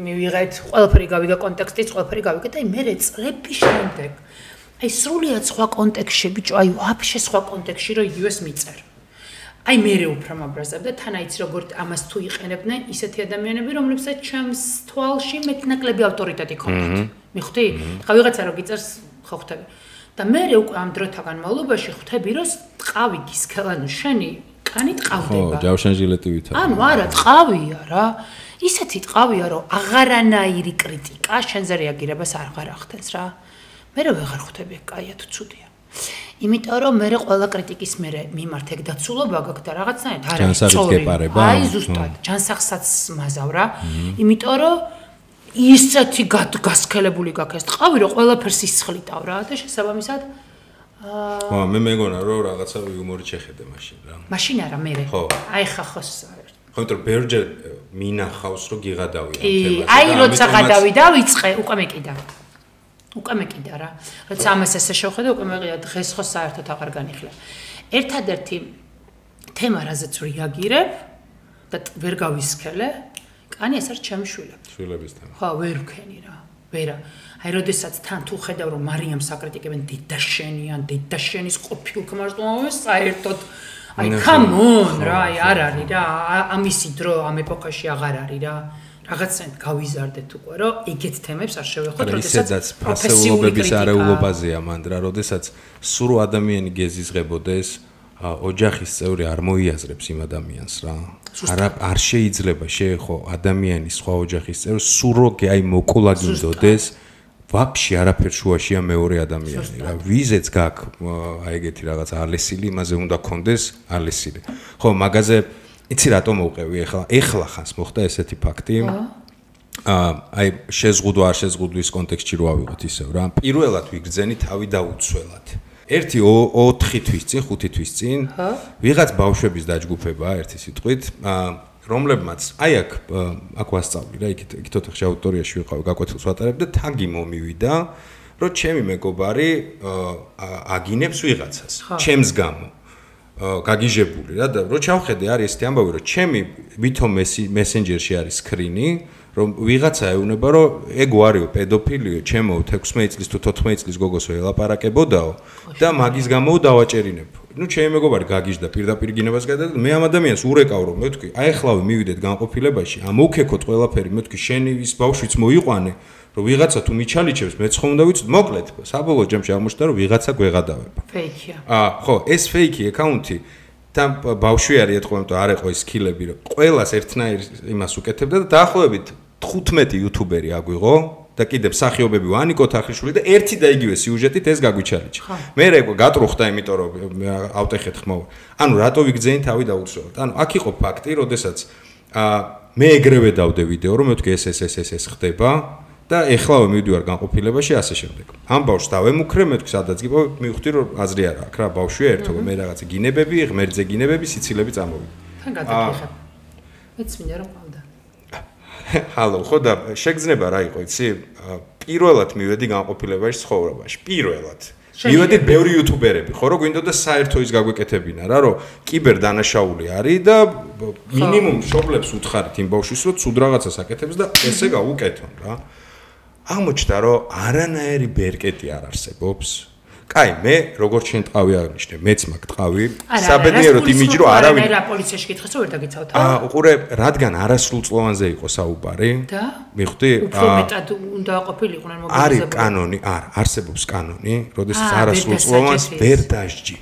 მივიღეთ, ყველაფერი გავიგა კონტექსტიც, ყველაფერი გავიგეთ, აი მე წლების შემდეგ. აი სრულიად სხვა კონტექსტში, ბიჭო, აი ვაფშე სხვა კონტექსტში რომ იგივეს მიწერ. აი მე უფრო მაბრაზებ და თან აიც როგორ ამას თუ იყენებდნენ ისეთი ადამიანები, რომლებსაც ჩემს თვალში მეტნაკლები ავტორიტეტი ჰქონდათ. მიხვდი? ხა ვიღაცა რო გიწერს ხო ხვდები. და მე უკვე ამ დროთა განმავლობაში ხვდები რომ ტყავი გისქელანო შენი კანი ტყავდება. ხო, ჯავშანჟილეტივით. ანუ არა, ტყავია რა. ისეთი ტყავია რომ აღარანაირი კრიტიკა შენზე რეაგირებას აღარ ახდენს რა. მე ვეღარ ხვდები, კაია თუ ცუდია. იმიტომ რომ მე ყველა კრიტიკის მიმართ ეგ დაცულობა გაქვს და რაღაცნაირად არ არის სწორი. აი ზუსტად, ჯანსაღსაც მაზავ რა. იმიტომ რომ ისეთი გასქელებული გაქვს ეს ტყავი რომ ყველაფერს ისხლიტავ რა და შესაბამისად ხო, მე მეგონა რომ რაღაცა იუმორით შეხედე მაშინ რა. მაშინ არა მე. აი ხა ხო ხო, იმიტომ რომ ბერჯერ მინახავს რომ გიღადავი ამ თემაზე. აი როცა გადავი და ვიწყე, უკვე მეკიდა. უკვე მეკიდა რა. როცა ამას ესე შევხედე, უკვე მეყია დღეს ხო საერთოდ აღარ განიხილე. ერთადერთი თემა რაზეც რეაგირებ და ვერ გავისქელე, კანი ეს არის ჩემი შვილები. შვილების თემა. ხო, ვერ ვქენი რა. ვერა. აი როდესაც თან თუ ხედავ რომ მარიამს აკრიტიკებენ დედაშენიან, დედაშენის ყოფილ ქმარს საერთოდ აი come on რა, აი არ არის რა. ამისი დრო ამ ეპოქაში აღარ არის რა. რაღაცნაირად გავიზარდეთ უკვე რომ ეგეთ თემებს არ შევეხოთ, როდესაც პროფესიულობის არეულობაზეა მანდ რა, როდესაც სულ ადამიანი გეზიზღებოდეს, ოჯახის წევრი არ მოიაზრებს იმ ადამიანს რა. არ შეიძლება შეეხო ადამიანის სხვა ოჯახის წევრს სულ როგე აი მოკულა გინდოდეს ვაფშე არაფერ შუაშია მეორე ადამიანი რა. ვიზეც გაქვს აი ეგეთი რაღაც ალესილი, იმაზე უნდა კონდეს ალესილი. ხო, მაგაზე იცი რატომ მოვყევი ეხლა ხანს მოხდა ესეთი ფაქტი. აი შეზღუდვა არ შეზღუდვის კონტექსტში რო ავიღოთ ისევ რა. პირველად ვიგრძენი თავი დაუცველად. 4 თვის წინ, 5 თვის წინ ვიღაც ბავშვების დაჯგუფება ერთი სიტყვით, რომლებმაც აი აქ ვასწავლი რა, იქით ოთახში აუდიტორიაში ვიყავი, გაკვეთილს ვატარებ და თაგი მომივიდა, რომ ჩემი მეგობარი აგინებს ვიღაცას, ჩემს გამო. გაგიჟებული რა და რო ჩავხედე არის ესეთი ამბავი რომ ჩემი ვითომ მესენჯერში არის სკრინი რომ ვიღაცა ეუბნება რომ ეგ ვარიო პედოფილიო ჩემო 16 წლის თუ 14 წლის გოგოსო ელაპარაკებოდაო და მაგის გამო დავაჭერინებ. ნუ ჩემი მეგობარი გაგიჟდა პირდაპირ გინებას გადადა მე ამ ადამიანს ურეკავ რომ მე ვთქვი აი ახლავე მივიდეთ განყოფილებაში ამოვქეკოთ ყველაფერი მე ვთქვი შენი ის ბავშვიც მოიყვანე რომ ვიღაცა თუ მიჩალიჩებს მეც ხომ უნდა ვიცი მოკლედ საბოლოო ჯამში აღმოჩნდა რომ ვიღაცა გვეღადავება. ფეიქია. ხო, ეს ფეიქი აკაუნტი და ბავშვი არის ეთქვა, იმიტომ არ ეყო ის სკილები, რომ ყველას ერთნაირ იმას უკეთებდა და დაახლოებით 15 იუთუბერი აგვიღო და კიდევ მსახიობები ვანიკო თახიშვილი და ერთი და იგივე სიუჟეტით ეს გაგვიჩალიჩა. მე რეკო გატრუხდა, იმიტომ რომ ავტეხეთ ხმოვ. ანუ რატო ვიგძენი თავი დაუცველად. ანუ აქ იყო ფაქტი, როდესაც მე ეგრევე დავდე ვიდეო, რომ მე ვთქვი ეს ხდება. და ეხლავე მივდივარ განყოფილებაში ასე შემდეგ. ამ ბავშვს დავემუქრე, მე თქვი სადაც გიპოვე, მივხვდი რომ აზრი არა აქვს რა, ბავშვია ერთო, მე რაღაცა გინებები, ღმერთზე გინებები, სიცილები წამოვიდა. თან გადაგიხებ. მეც მინდა რომ ყავდა. ჰალო, ხო და შეგრძნება რა იყო, იცი? პირველად მივედი განყოფილებაში ცხოვრებაში, პირველად. მივედით ბევრი იუთუბერები, ხო, რომ გვინდოდა საერთო ის გაგვეკეთებინა რა, რომ კიბერ დანაშაული არის და მინიმუმ მშობლებს უთხარით იმ ბავშვის, რომ ცუდ რაღაცას აკეთებს და ესე გაუკეთონ რა. აღმოჩნდა რომ არანაირი ბერკეტი არ არსებობს. კაი, მე როგორც შენ ტყავი აღნიშნე, მეც მაგ ტყავი, საბედნიეროდ იმიჯი რომ არავინ რა პოლიციაში გითხეს რომ ვერ დაგიცავთ. უყურე, რადგან არასრულწლოვანზე იყო საუბარი. და? მიხვდი? უფრო მეტად უნდა ყოფილიყვნენ მობილიზებული. არის კანონი, არსებობს კანონი, როდესაც არასრულწლოვანს ვერ დასჯი.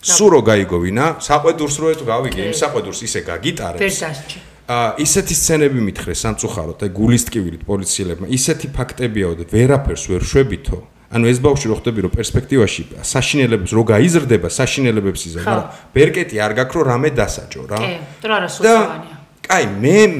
სულ რო გაიგოვინა, საყვედურს რო გავიგე, იმ საყვედურს ისე გაგიტარებს. ვერ დასჯი. ისეთი სცენები მითხრეს სამწუხაროდ, აი გულის ტკივილით პოლიციელებმა, ისეთი ფაქტებიაო და ვერაფერს ვერ შვებითო. ანუ ეს ბავშვი რო ხდები რომ პერსპექტივაში საშინელებებს რო გაიზრდება, საშინელებებს იზრდება, მაგრამ ბერკეტი არ გაქვს რომ რამე დასაჯო რა. კი, თუ არასრულწლოვანია. კაი,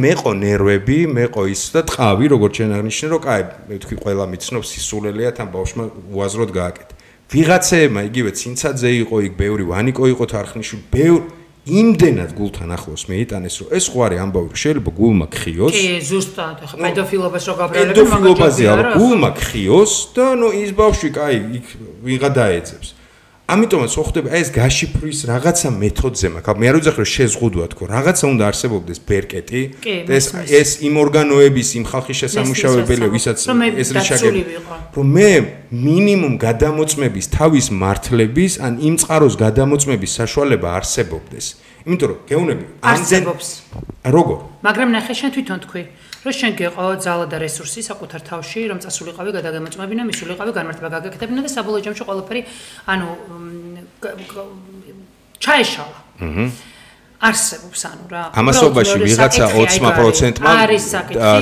მეყო ნერვები, მეყო ის და ტყავი, როგორც შენ აღნიშნე, რომ კაი, მე ვთქვი ყველა მიცნობს სისულელია თან ბავშვმა უაზროდ გააკეთა. ვიღაცეებმა იგივე ცინცაძე იყო, იქ ბევრი ვანიკო იყო თარხნიშვილი, ბევრი იმდენად გულთან ახლოს მეიტანეს, რომ ეს ხო არის ამბავი, რომ შეიძლება გულმა ქხიოს. კი, ზუსტად, ხო, პედოფილობას რო გაბრალები, პედოფილობაზე არა, გულმა ქხიოს და ნუ ის ბავშვი, კაი, იქ ვიღა დაეძებს. ამიტომაც ხო ხდება ეს გაშიფვრის რაღაცა მეთოდზე მაქვს. მე არ ვიძახი რომ შეზღუდვა თქო, რაღაცა უნდა არსებობდეს ბერკეტი და ეს იმ ორგანოების, იმ ხალხის შესამუშავებელი, ვისაც ეს რიშაგები, რომ მე მინიმუმ გადამოწმების თავის მართლების, ან იმ წყაროს გადამოწმების საშუალება არსებობდეს. იმიტომ რომ გეუნები არსებობს. როგორ? მაგრამ ნახე შენ თვითონ თქვი რომ შენ გეყო ძალა და რესურსი საკუთარ თავში, რომ წასულიყავი გადაგემოწმებინა, მისულიყავი განმარტება გაგაკეთებინა და საბოლოო ჯამში ყველაფერი, ანუ ჩაეშალა. არსებობს ანუ რა. ამასობაში ვიღაცა 20%-მა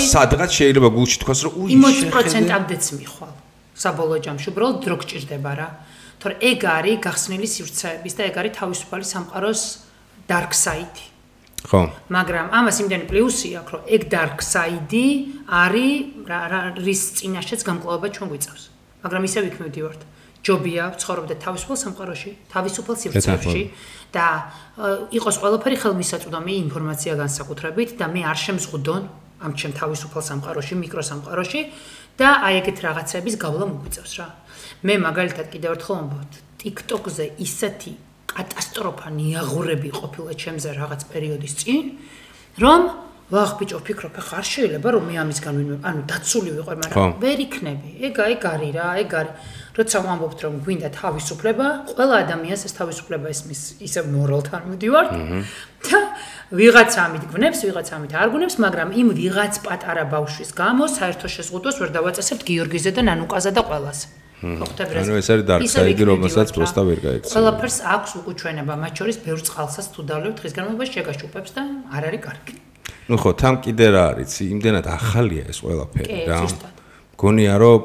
სადღაც შეიძლება გულში თქვას, რომ უი 20%-ამდეც მიხვალ. საბოლოო ჯამში უბრალოდ დრო გჭირდება რა. თორე ეგ არის გახსნილი სივრცეების და ეგ არის თავისუფალი სამყაროს dark side. ხო. მაგრამ ამას იმდენი პლუსი აქვს, რომ ეგ dark side არის რის წინაშეც გამკლავება ჩვენ გვიწევს. მაგრამ ისევ იქ მივდივართ. ჯობია ვცხოვრობდეთ თავისუფალ სამყაროში, თავისუფალ სივრცეებში და იყოს ყველაფერი ხელმისაწვდომი ინფორმაცია განსაკუთრებით და მე არ შემზღუდონ ამ ჩემ თავისუფალ სამყაროში, მიკროსამყაროში და აი ეგეთ რაღაცების გავლა მოგვიწევს რა. მე მაგალითად კიდევ ერთხელ ვამბობ, TikTok-ზე ისეთი კატასტროფა ნიაღურები ყოფილა ჩემზე რაღაც პერიოდის წინ, რომ ვახ ბიჭო ვფიქრობ, ხარ შეიძლება რომ მე ამისგან ვინმე, ანუ დაცული ვიყო, მაგრამ ვერ იქნები. ეგ არის რა, ეგ არის. როცა ვამბობთ რომ გვინდა თავისუფლება, ყველა ადამიანს ეს თავისუფლება ესმის ისევ მორალთან მივდივართ და ვიღაცა ამით გვნებს, ვიღაცა ამით არ გვნებს, მაგრამ იმ ვიღაც პატარა ბავშვის გამო საერთო შეზღუდვას ვერ დავაწესებთ გიორგიზე და ნანუკაზე და ყველაზე. ანუ ეს არის dark side, რომელსაც პროსტა ვერ გაიქცევ. ყველაფერს აქვს უყუჩვენება, მათ შორის ბევრ წყალსაც თუ დავლევთ დღის განმავლობაში შეგაშუპებს და არ არის კარგი. ნუ ხო, თან კიდე რა არის, იმდენად ახალია ეს ყველაფერი რა. გონია რომ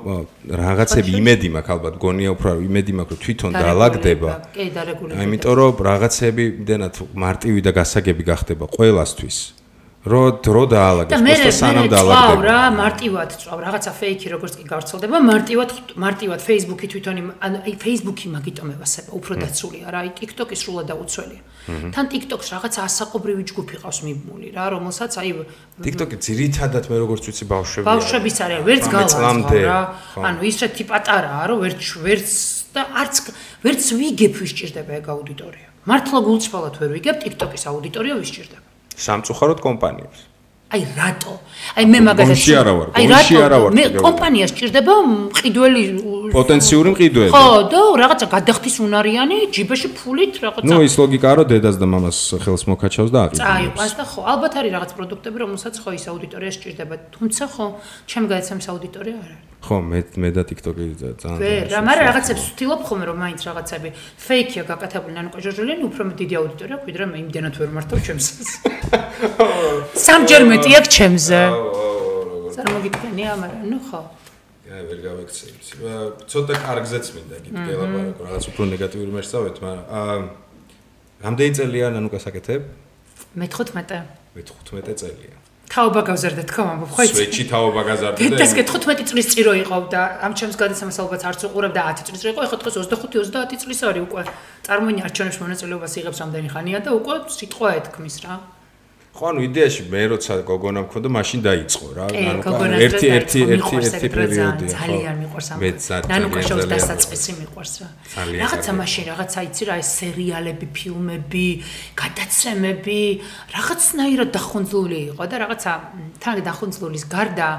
რაღაცები იმედი მაქვს ალბათ, გონია უფრო იმედი მაქვს რომ თვითონ დაალაგდება. კი, დარეგულირდება. იმიტომ რომ რაღაცები იმდენად მარტივი და გასაგები გახდება ყველასთვის. რო დრო დაალაგებს, просто სანამ დაალაგდება. რა, მარტივად წვავ, რაღაცა ფეიქი როგორც კი გავრცელდება, მარტივად Facebook-ი თვითონ ანუ აი Facebook-ი მაგიტომებასება, უფრო დაცულია რა, აი TikTok-ი სრულად დაუცველია. თან TikTok-ს რაღაცა ასაყობრივი ჯგუფი ყავს მიბმული რა, რომელსაც აი TikTok-ი ძირითადად მე როგორც ვიცი ბავშვები. ბავშვების არის, ვერც გალავდა რა. ანუ ისეთი პატარაა, რომ ვერც და ვერც ვიგებ ვისჭირდება ეგ აუდიტორია. მართლა გულწრფელად ვერ ვიგებ TikTok-ის აუდიტორია ვისჭირდება. სამწუხაროდ კომპანიებს. აი რატო? აი მე მაგალითად აი რატო? მე კომპანიას ჭირდება მყიდველი პოტენციური მყიდველი. ხო, და რაღაცა გადახდის უნარიანი, ჯიბეში ფულით რაღაცა. ნუ ის ლოგიკაა, რომ დედას და მამას ხელს მოკაჩავს და აყიდებს. წაიყვანს და ხო, ალბათ არის რაღაც პროდუქტები, რომელსაც ხო ის აუდიტორიას ჭირდება, თუმცა ხო, ჩემ გადაცემის აუდიტორია არ არის. ხო, მე და TikTok-ი ძალიან. რა, მაგრამ რაღაცებს ვთილობ ხოლმე, რომ მაინც რაღაცები ფეიქია გაკეთებული ნანუკა ჟორჟელიანი, უფრო დიდი აუდიტორია აქვს, ვიდრე მე იმდენად ვერ მართავ ჩემს. სამჯერ მეტი აქვს ჩემზე. წარმოგიდგენია, მაგრამ ნუ ხო. აი ვერ გავექცევი. ცოტა კარგზეც მინდა გითხრა ლაპარაკო, რაღაც უფრო ნეგატიური მერსავეთ, მაგრამ რამდენი წელია ნანუკას აკეთებ? მე 15. მე 15 წელია. თაობა გავზარდა თქო ამბობ, ხო იცი? სვეჩი თაობა გაზარდა და ეს 15 წლის წირო იყო და ამ ჩემს გადაცემას ალბათ არც უყურებ და 10 წლის იყო, ეხლა დღეს 25-30 წლის არის უკვე. წარმოიდგინე არჩევნებში მონაწილეობას იღებს რამდენი ხანია და უკვე სიტყვა ეთქმის რა. ხო, ანუ იდეაში მე როცა გოგონა მქონდა, მაშინ დაიწყო რა. ერთი პერიოდია. ძალიან მიყვარს ამ. ნანუკა შოუს დასაწყისი მიყვარს რა. რაღაცა მაშინ, რაღაცა იცი რა, ეს სერიალები, ფილმები, გადაცემები, რაღაცნაირად დახუნძლული იყო და რაღაცა თან დახუნძლულის გარდა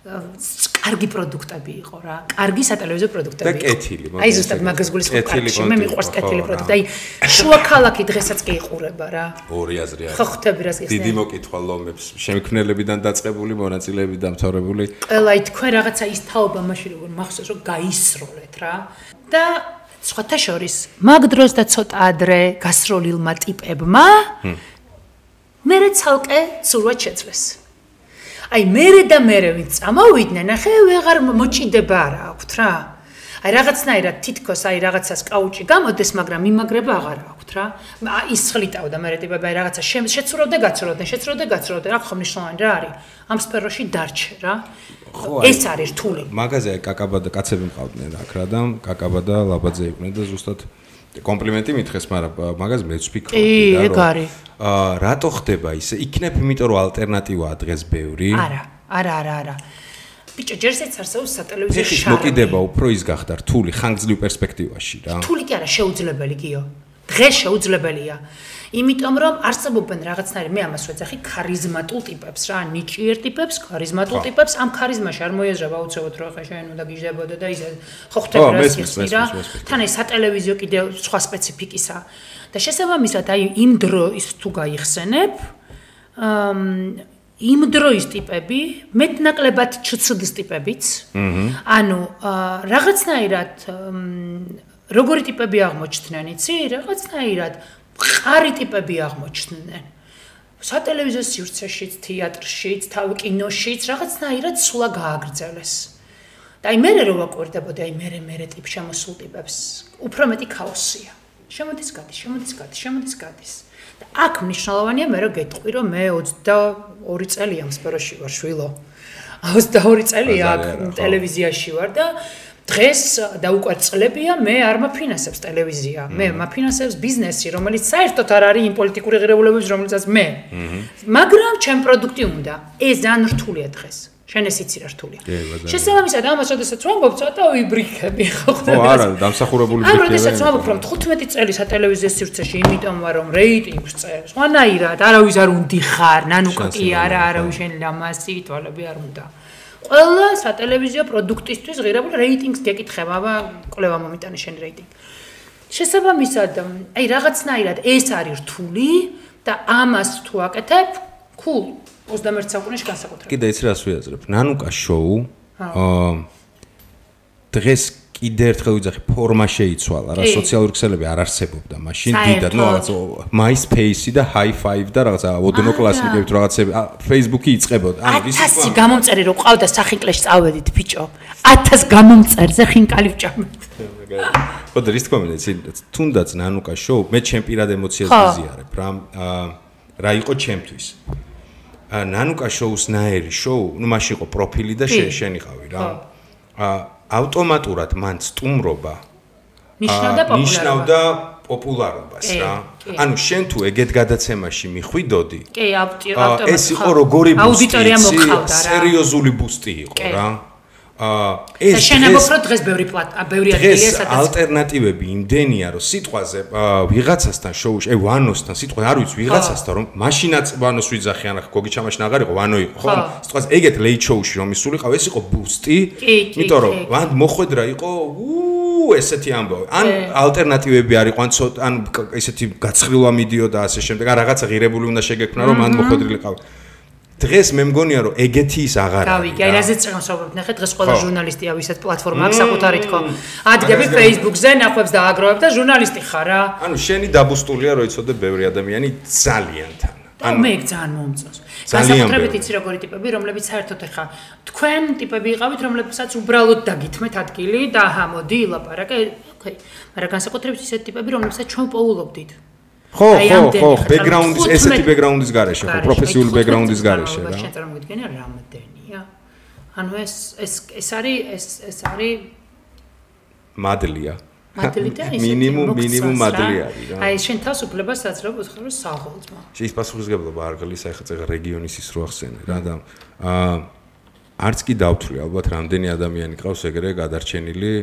კარგი პროდუქტები იყო რა. კარგი სატელევიზიო პროდუქტები. და კეთილი. აი ზუსტად მაგას გულისხმობ კარგში. მე მიყვარს კეთილი პროდუქტი. აი შუა ქალაქი დღესაც კი იყურება რა. ორი აზრი არის. ხო ხვდები რას გესმის. დიდი მოკითხვა ლომებს, შემქმნელებიდან დაწყებული, მონაწილეებიდან დამთავრებული. ყველა თქვენ რაღაცა ის თაობა მაშინ როგორ მახსოვს რომ გაისროლეთ რა. და სხვათა შორის მაგ დროს და ცოტა ადრე გასროლილმა ტიპებმა მერე ცალკე ცურვად შეძლეს. აი მერე და მერე ვინც წამოვიდნენ, ახე ვეღარ მოჭიდება არა აქვთ რა. აი რაღაცნაირად თითქოს აი რაღაცას კაუჭი გამოდეს, მაგრამ იმაგრება აღარ აქვთ რა. ის ხლიტავდა მერე ტიპები, აი რაღაცა შეცურავდა, გაცურავდა, რა ხო მნიშვნელოვანი რა არის. ამ სფეროში დარჩე რა. ეს არის რთული. მაგაზე კაკაბა და კაცები მყავდნენ აქ რა და კაკაბა და ლაბაძე იყვნენ და ზუსტად კომპლიმენტი მითხეს, მაგრამ მაგას მეც ვფიქრობ და რომ რატო ხდება ისე? იქნებ იმიტომ რომ ალტერნატივაა დღეს ბევრი. არა. ბიჭო, ჯერზეც არსებობს სატელევიზიო შარლი. მოკიდება უფრო ის გახდა რთული ხანგრძლივ პერსპექტივაში რა. რთული კი არა, შეუძლებელი გიო. დღეს შეუძლებელია. იმიტომ რომ არსებობენ რაღაცნაირი მე ამას ვეძახი ქარიზმატულ ტიპებს რა, ნიჭიერ ტიპებს, ქარიზმატულ ტიპებს, ამ ქარიზმაში არ მოიაზრება აუცილებლად რომ ხა შენ უნდა გიჟდებოდე და ისე ხო ხდება რა ისე რა. თან ეს სატელევიზიო კიდევ სხვა სპეციფიკისა. და შესაბამისად აი იმ დროის თუ გაიხსენებ იმ დროის ტიპები მეტნაკლებად ჩცდის ტიპებიც. ანუ რაღაცნაირად როგორი ტიპები აღმოჩნდნენ, იცი? რაღაცნაირად ყარი ტიპები აღმოჩნდნენ. სატელევიზიო სივრცეშიც, თეატრშიც, თავი კინოშიც რაღაცნაირად სულა გააგრძელეს. და აი მე რო ვაკვირდებოდი აი მე ტიპ შემოსულ ტიპებს, უფრო მეტი ქაოსია. შემოდის გადის. და აქ მნიშვნელოვანია მე რო გეტყვი რომ მე 22 წელია მსპეროში ვარ შვილო. 22 წელია აქ ტელევიზიაში ვარ და დღეს და უკვე წლებია მე არ მაფინანსებს ტელევიზია. მე მაფინანსებს ბიზნესი, რომელიც საერთოდ არ არის იმ პოლიტიკური ღირებულებების, რომელიცაც მე. მაგრამ ჩემ პროდუქტი უნდა. ეს ძალიან რთულია დღეს. შენ ეს იცი რა რთულია. შესაბამისად, ამას როდესაც ვამბობ, ცოტა ვიბრიქები ხო ხდება. ო არა, დამსახურებული ვიბრიქები. ანუ როდესაც ვამბობ, რომ 15 წელი სატელევიზიო სივრცეში იმიტომ ვარ, რომ რეიტინგს წერს. ვანაირად, არავის არ უნდიხარ, ნანუკი არა, არავის შენ ლამასი თვალები არ უნდა. ყველა სატელევიზიო პროდუქტისთვის ღირებული რეიტინგს გეკითხება, აბა კვლევა მომიტანე შენ რეიტინგი. შესაბამისად, აი რაღაცნაირად ეს არის რთული და ამას თუ აკეთებ, cool 21 საუკუნეში განსაკუთრებით. კიდე იცი რას ვიაზრებ? ნანუკა შოუ დღეს კიდე ერთხელ ვიძახი ფორმა შეიცვალა რა, სოციალური ქსელები არ არსებობდა მაშინ დიდად, ნუ რაღაც MySpace და Hi5 და რაღაცა ოდნოკლასნიკებით რაღაცები, Facebook-ი იწყებოდა. ანუ ისი 1000 გამომწერი რო ყავდა სახინკლეში წავედით ბიჭო. 1000 გამომწერზე ხინკალი ვჭამეთ. ხო და რის თქმა უნდა, თუნდაც ნანუკა შოუ მე ჩემ პირად ემოციას ვიზიარებ რა. რა იყო ჩემთვის? ნანუკა შოუს ნაერი შოუ, ნუ მაშინ იყო პროფილი და შენიყავი რა. ავტომატურად მან სტუმრობა ნიშნავდა პოპულარობას რა. ანუ შენ თუ ეგეთ გადაცემაში მიხვიდოდი, ეს იყო როგორი ბუსტი, სერიოზული ბუსტი იყო რა. ეს შენებობრო დღეს ბევრი ადგილია სადაც ალტერნატივები იმდენია რომ სიტყვაზე ვიღაცასთან შოუში, აი ვანოსთან სიტყვა არ ვიცი ვიღაცასთან რომ მაშინაც ვანოს ვიძახი ან ახ გოგი ჩამაშინ აღარ იყო ვანო იყო ხო სიტყვაზე ეგეთ ლეით შოუში რომ ისულიყავ ეს იყო ბუსტი იმიტომ რომ ვან მოხვედრა იყო ესეთი ამბავი ან ალტერნატივები არ იყო ან ესეთი გაცხრილვა მიდიოდა ასე შემდეგ ან რაღაცა ღირებული უნდა შეგექმნა რომ მან მოხვედრილიყავ დღეს მე მგონია რომ ეგეთი ის აღარ არის. გავიგე, აი რაზეც წამოსაუბრობთ, ნახეთ დღეს ყველა ჟურნალისტია ვისაც პლატფორმა აქვს საკუთარი თქო. ადგები Facebook-ზე ნახვებს დააგროვებ და ჟურნალისტი ხარ რა. ანუ შენი დაბუსტულია რომ იცოდე ბევრი ადამიანი ძალიან თან. ანუ მე ძალიან მომწონს. განსაკუთრებით იცი როგორი ტიპები, რომლებიც საერთოდ ეხა თქვენ ტიპები იყავით, რომლებსაც უბრალოდ დაგითმეთ ადგილი და აჰა მოდი ლაპარაკე. ოკეი. მაგრამ განსაკუთრებით ისეთ ტიპები, რომლებსაც ჩვენ პოულობდით. ხო, ბექგრაუნდის, ესეთი ბექგრაუნდის გარეშე, ხო, პროფესიული ბექგრაუნდის გარეშე რა. შენ წარმოგიდგენია რამდენია? ანუ ეს არის მადლია. მადლი და ეს მინიმუმ მადლი არის რა. აი შენ თავისუფლებას საძრობ ხარ საღოლწმა. შეის პასუხისგებლობა არ გლის აი ხა რეგიონის ის რო ახსენე რა და არც კი დავთვლი ალბათ რამდენი ადამიანი ყავს ეგრე გადარჩენილი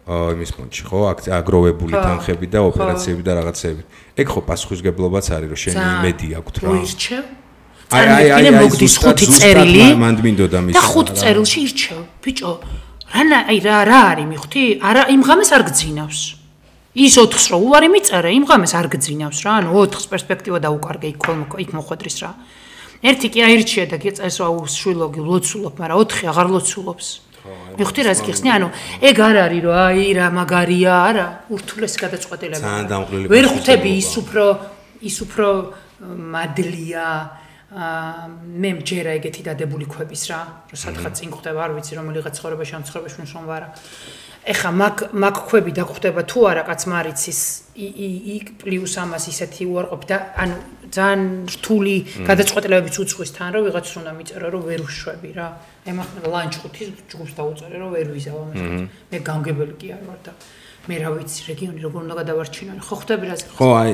იმის ფონდში ხო აგროვებული თანხები და ოპერაციები და რაღაცები. ეგ ხო პასუხისგებლობაც არის რომ შენი იმედი აქვს რა. ირჩევ. აი მოგდის 5 წერილი. მანდ მინდოდა მის. და 5 წერილში ირჩევ. ბიჭო, რა არის მიხთი? არა იმ ღამეს არ გძინავს. ის 4-ს რო უარი მიწერე, იმ ღამეს არ გძინავს რა. ანუ 4-ს პერსპექტივა დაუკარგე იქ მოხვედრის რა. ერთი კი აირჩია და გეწესო შვილოგი ლოცულობ, მაგრამ 4 აღარ ლოცულობს. მიხთი რას გიხსნი? ანუ ეგ არ არის რომ აი რა მაგარია, არა, ურთულეს გადაწყვეტილება. ძალიან დამყრილი. ვერ ხვდები ის უფრო მადლია. მე მჯერა ეგეთი დადებული ქვების რა, რომ სათხაც წინ ხვდება, არ ვიცი რომელიღაც ცხოვრებაში ან ცხოვრებაში მშრომ ვარა. ეხა მაგ ქვები დაგხვდება თუ არა კაც მარიცის იქ პლუს ამას ისეთი უარყოფი და ანუ ძალიან რთული გადაწყვეტილებებიც უძღვის თან რომ ვიღაც უნდა მიწერო რომ ვერ უშვები რა. აი მაგ ლანჩ ხუთის ჯგუფს დაუწერე რომ ვერ ვიზავ ამას. მე გამგებელი კი არ ვარ და მე რა ვიცი რეგიონი როგორ უნდა გადავარჩინო ხო ხვდები რა ხო აი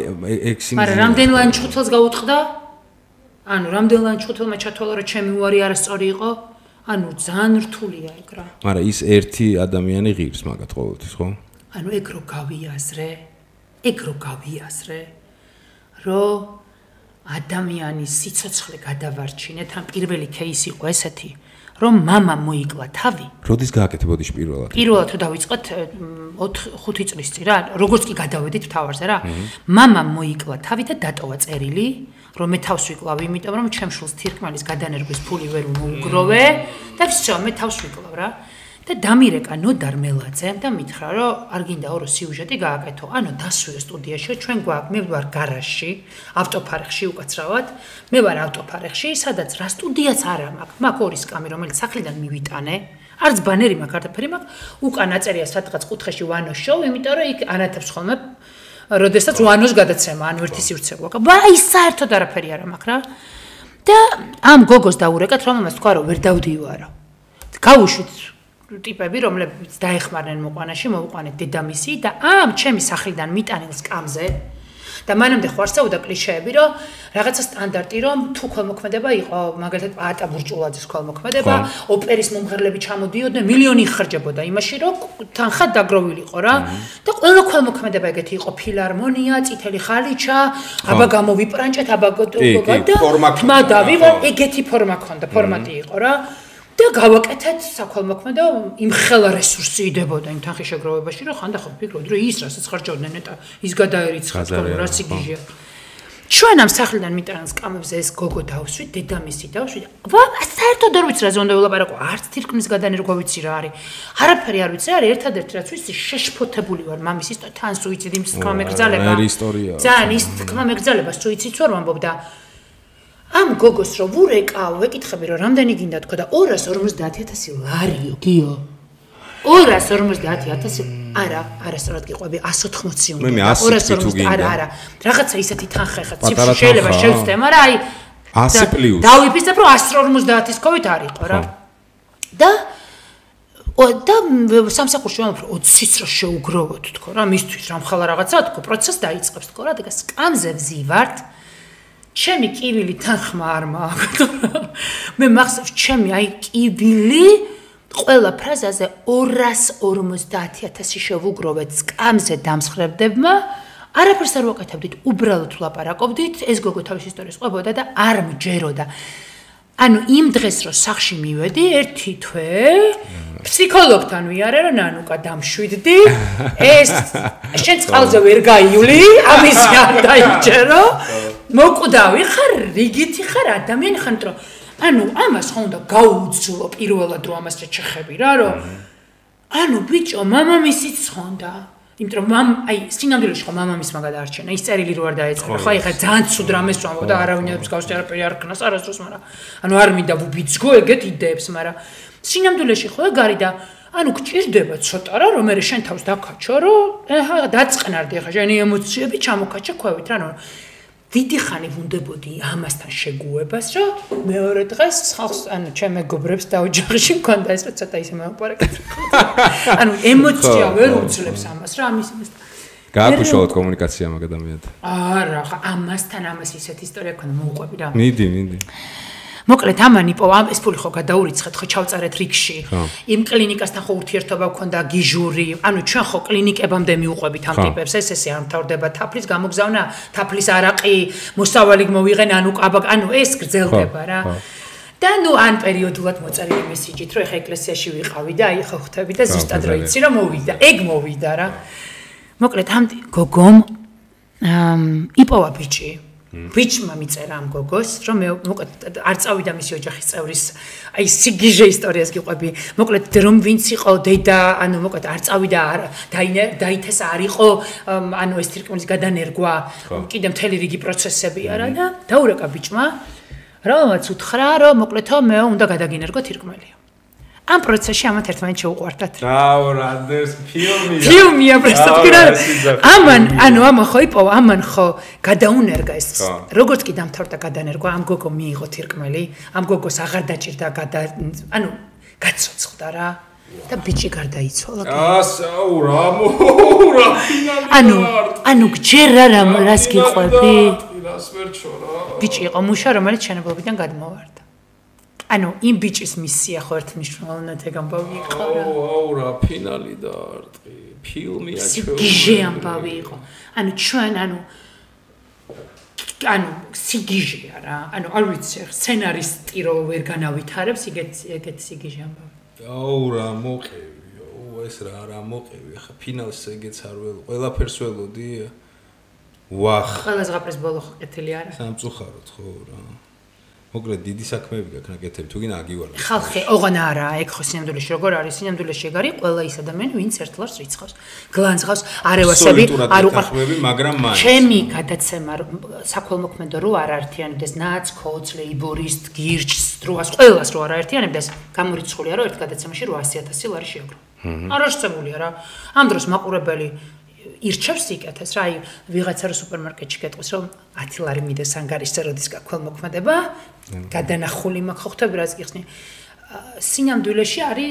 ექსიმიზი მაგრამ რამდენ ლანჩხუთელს გაუტყდა ანუ რამდენ ლანჩხუთელმა ჩათვალა რომ ჩემი უარი არასწორი იყო ანუ ძალიან რთულია ეგ რა მაგრამ ის ერთი ადამიანი ღირს მაგათ ყოველთვის ხო ანუ ეგ რო გავიაზრე რომ ადამიანის სიცოცხლე გადავარჩინეთ ან პირველი кейსი იყო ესეთი რომ мама მოიკლა თავი. როდის გააკეთე ბოდიში პირველად? პირველად თუ დავიწყოთ 4-5 წლის წინ რა, როგორც კი გადავედით თავარზე რა. мама მოიკლა თავი და დატოვა წერილი, რომ მე თავს ვიკლავ, იმიტომ რომ ჩემ შულს თირკმელის გადანერგვის ფული ვერ მოუგროვე და всё, მე თავს ვიკლავ რა. და დამირეკა ნოდარ მელაძემ და მითხრა რომ არ გინდა ორო სიუჟეტი გააკეთო. ანუ დასვიო სტუდიაში, ჩვენ გვაქვს, მე ვარ გარაჟში, ავტოფარეხში უკაცრავად. მე ვარ ავტოფარეხში, სადაც რა სტუდიაც არა მაქვს. მაქვს ორი სკამი, რომელიც სახლიდან მივიტანე. არც ბანერი მაქვს, არაფერი მაქვს. უკან აწერია სადღაც კუთხეში ვანო შოუ, იმიტომ რომ იქ ანათებს ხოლმე როდესაც ვანოს გადაცემა, ანუ ერთი სივრცე გვაქვს. აი საერთოდ არაფერი არა მაქვს რა. და ამ გოგოს დაურეკათ, რომ ამას თქვა რომ ვერ დავდივარო. გავუშვით ტიპები, რომლებიც დაეხმარნენ მოყვანაში, მოვუყვანეთ დედამისი და ამ ჩემი სახლიდან მიტანილ სკამზე და მანამდე ხო არსებობდა კლიშეები, რომ რაღაცა სტანდარტი, რომ თუ ქველმოქმედება იყო, მაგალითად პაატა ბურჭულაძის ქველმოქმედება, ოპერის მომღერლები ჩამოდიოდნენ, მილიონი იხარჯებოდა იმაში, რომ თანხა დაგროვილიყო რა. და ყველა ქველმოქმედება ეგეთი იყო, ფილარმონია, წითელი ხალიჩა, აბა გამოვიპრანჭეთ, აბა თმა დავივა, ეგეთი ფორმა ქონდა, ფორმატი იყო რა. და გავაკეთეთ საქველმოქმედო იმ ხელა რესურსი იდებოდა იმ თანხის შეგროვებაში რომ ხანდა ხო ფიქრობდი რომ ის რასაც ხარჯავდნენ ნეტა ის გადაერიცხა თქო რა სიგიჟია ჩვენ ამ სახლიდან მიტანილ სკამებზე ეს გოგო დავსვით დედამისი დავსვით საერთოდ არ ვიცი რა ზონდა ველაპარაკო არც თირკმლის გადანერგვა ვიცი რა არის არაფერი არ ვიცი რა არის ერთადერთი რაც ვიცი შეშფოთებული ვარ მამის ის თან სუიციდი თქმა მეგრძალება ძალიან ის თქმა მეგრძალება სუიციდს ვერ ვამბობ და ამ გოგოს რო ვურეკავ, ვეკითხები რომ რამდენი გინდა თქო და 250,000 ლარიო, გიო. 250,000 არასწორად გიყვები 180 უნდა. მე 100 არა. რაღაცა ისეთი თანხა ხა ციფრი შეიძლება შევცდე, მაგრამ აი 100 პლუს. დავიფიცებ რომ 150-ის კოვით არისო რა. და სამსახურში ვამბობ რომ 20-ს რა შეუგროვოთ თქო რა, მისთვის რა მხალა რაღაცა თქო, პროცესი დაიწყებს თქო რა, და სკამზე ვზივართ. ჩემი კივილი თანხმა არ მაქვს. მე მახსოვს ჩემი აი კივილი ყველა ფრაზაზე 250,000 შევუგროვეთ სკამზე დამსხრებდებმა. არაფერს არ ვაკეთებდით, უბრალოდ ვლაპარაკობდით, ეს გოგო თავის ისტორიას ყვებოდა და არ მჯეროდა. ანუ იმ დღეს რო სახში მივედი, ერთი თვე ფსიქოლოგთან ვიარე რომ ნანუკა დამშვიდდი. ეს შენ წყალზე ვერ გაივლი, ამის არ დაიჯერო. მოკვდავი ხარ, რიგითი ხარ, ადამიანი ხარ, რომ ანუ ამას ხო უნდა გაუძლო პირველად რომ ამას შეჩეხები რა, რომ ანუ ბიჭო, მამამისიც ხონდა. იმიტომ რომ აი სინამდვილეში ხო მამამისმა გადაარჩენა, ის წერილი რო არ დაეწყო. ხო ეხლა ძალიან ცუდ რამეს ვამბობ და არავინ არ მსგავსი არაფერი არ ქნას არასდროს, მაგრამ ანუ არ მინდა ვუბიძგო ეგეთ იდეებს, მაგრამ სინამდვილეში ხო ეგ არის და ანუ გჭირდება ცოტა რა, რომ მე შენ თავს დაკაჩო, რომ აჰა დაწყნარდი ახლა შენი ემოციები ჩამოკაჩა ქვევით რა, ნუ დიდი ხანი ვუნდებოდი ამასთან შეგუებას, რომ მეორე დღეს ხალხს, ანუ ჩემ მეგობრებს და ოჯახში მქონდა ეს რომ ცოტა ისე მოვაპარაკეთ. ანუ ემოცია ვერ უძლებს ამას რა, ამის გააქვს უშუალოდ კომუნიკაცია მაგ ადამიანთან. არა, ხა ამასთან ამას ისეთ ისტორია ქონდა, მოუყვები რა. მიდი. მოკლედ ამან იპოვა ეს ფული ხო გადაურიცხეთ, ხო ჩავწერეთ რიგში. იმ კლინიკასთან ხო ურთიერთობა გქონდა გიჟური, ანუ ჩვენ ხო კლინიკებამდე მიუყვებით ამ ტიპებს, ესე არ მთავრდება თაფლის გამოგზავნა, თაფლის არაყი, მოსავალი მოვიღენ, ანუ ეს გრძელდება რა. და ნუ ან პერიოდულად მოწერილი მესიჯით, რომ ეხა ეკლესიაში ვიყავი და აი ხო ხვდები და ზუსტად რო იცი რომ მოვიდა, ეგ მოვიდა რა. მოკლედ ამ გოგომ იპოვა ბიჭი. ბიჭმა მიწერა ამ გოგოს, რომ მე მოკლედ არ წავიდა მისი ოჯახის წევრის აი სიგიჟე ისტორიას გიყვები. მოკლედ რომ ვინც იყო დედა, ანუ მოკლედ არ წავიდა, დაითესა არ იყო, ანუ ეს თირკმლის გადანერგვა, კიდე მთელი რიგი პროცესები არა და დაურეკა ბიჭმა, რომელმაც უთხრა, რომ მოკლედო მე უნდა გადაგინერგო თირკმელი. ამ პროცესში ამათ ერთმანეთს შეუყვარდათ. რაოდენს ფილმია პრესტატკირა. ამან ხო იპოვა, ამან ხო გადაუნერგა ეს. როგორც კი დამთავრდა გადანერგვა, ამ გოგო მიიღო თირკმელი, ამ გოგოს აღარ დაჭირდა ანუ გაცოცხლდა რა. და ბიჭი გარდაიცვალა. აურა. ანუ გჯერ რას გიყვები? რას ვერ ჩორა. ბიჭი იყო მუშა, რომელიც შენებლობიდან გადმოვარდა. ანუ იმ ბიჭის მისია ხო ერთმნიშვნელოვნად ეგ ამბავი იყო რა. აურა, ფინალი დაარტყი. ფილმია ჩვენ. სიგიჟე ამბავი იყო. ანუ ჩვენ სიგიჟეა რა. არ ვიცი, სცენარისტი რო ვერ განავითარებს, ეგეთ სიგიჟე ამბავი. აურა, მოყევი. ეს რა მოყევი. ახლა ფინალს ეგეც არ ველო. ყველაფერს ველოდი. ვახ. ყველაზე ღაფრის ბოლო ყეთილი არა. სამწუხაროდ ხო რა. მოკლედ დიდი საქმეები გაქვს ნაკეთები, თუ გინდა აგივარდეთ. ხალხი ოღონ არა, ეგ ხო სინამდვილეში როგორ არის? სინამდვილეში ეგ არის ყველა ის ადამიანი, ვინც ერთ ლარს რიცხავს. გლანძღავს, არევასები, არ უყარხმები, მაგრამ მაინც. ჩემი გადაცემა საქველმოქმედო რო არ აერთიანებდეს ნაც, ქოც, ლეიბორისტ, გირჩს, დროას, ყველას რო არ აერთიანებდეს, გამორიცხულია რომ ერთ გადაცემაში 800,000 ლარი შეაგრო. არარწმულია რა. ამ დროს მაყურებელი ირჩევს იკეთეს რა, აი ვიღაცა რო სუპერმარკეტში გეტყვის რომ 10 ლარი მიდეს ანგარიშზე როდის გაქველმოქმედება, გადანახული მაქვს ხო ხვდები რაც გიხსნი. სინამდვილეში არის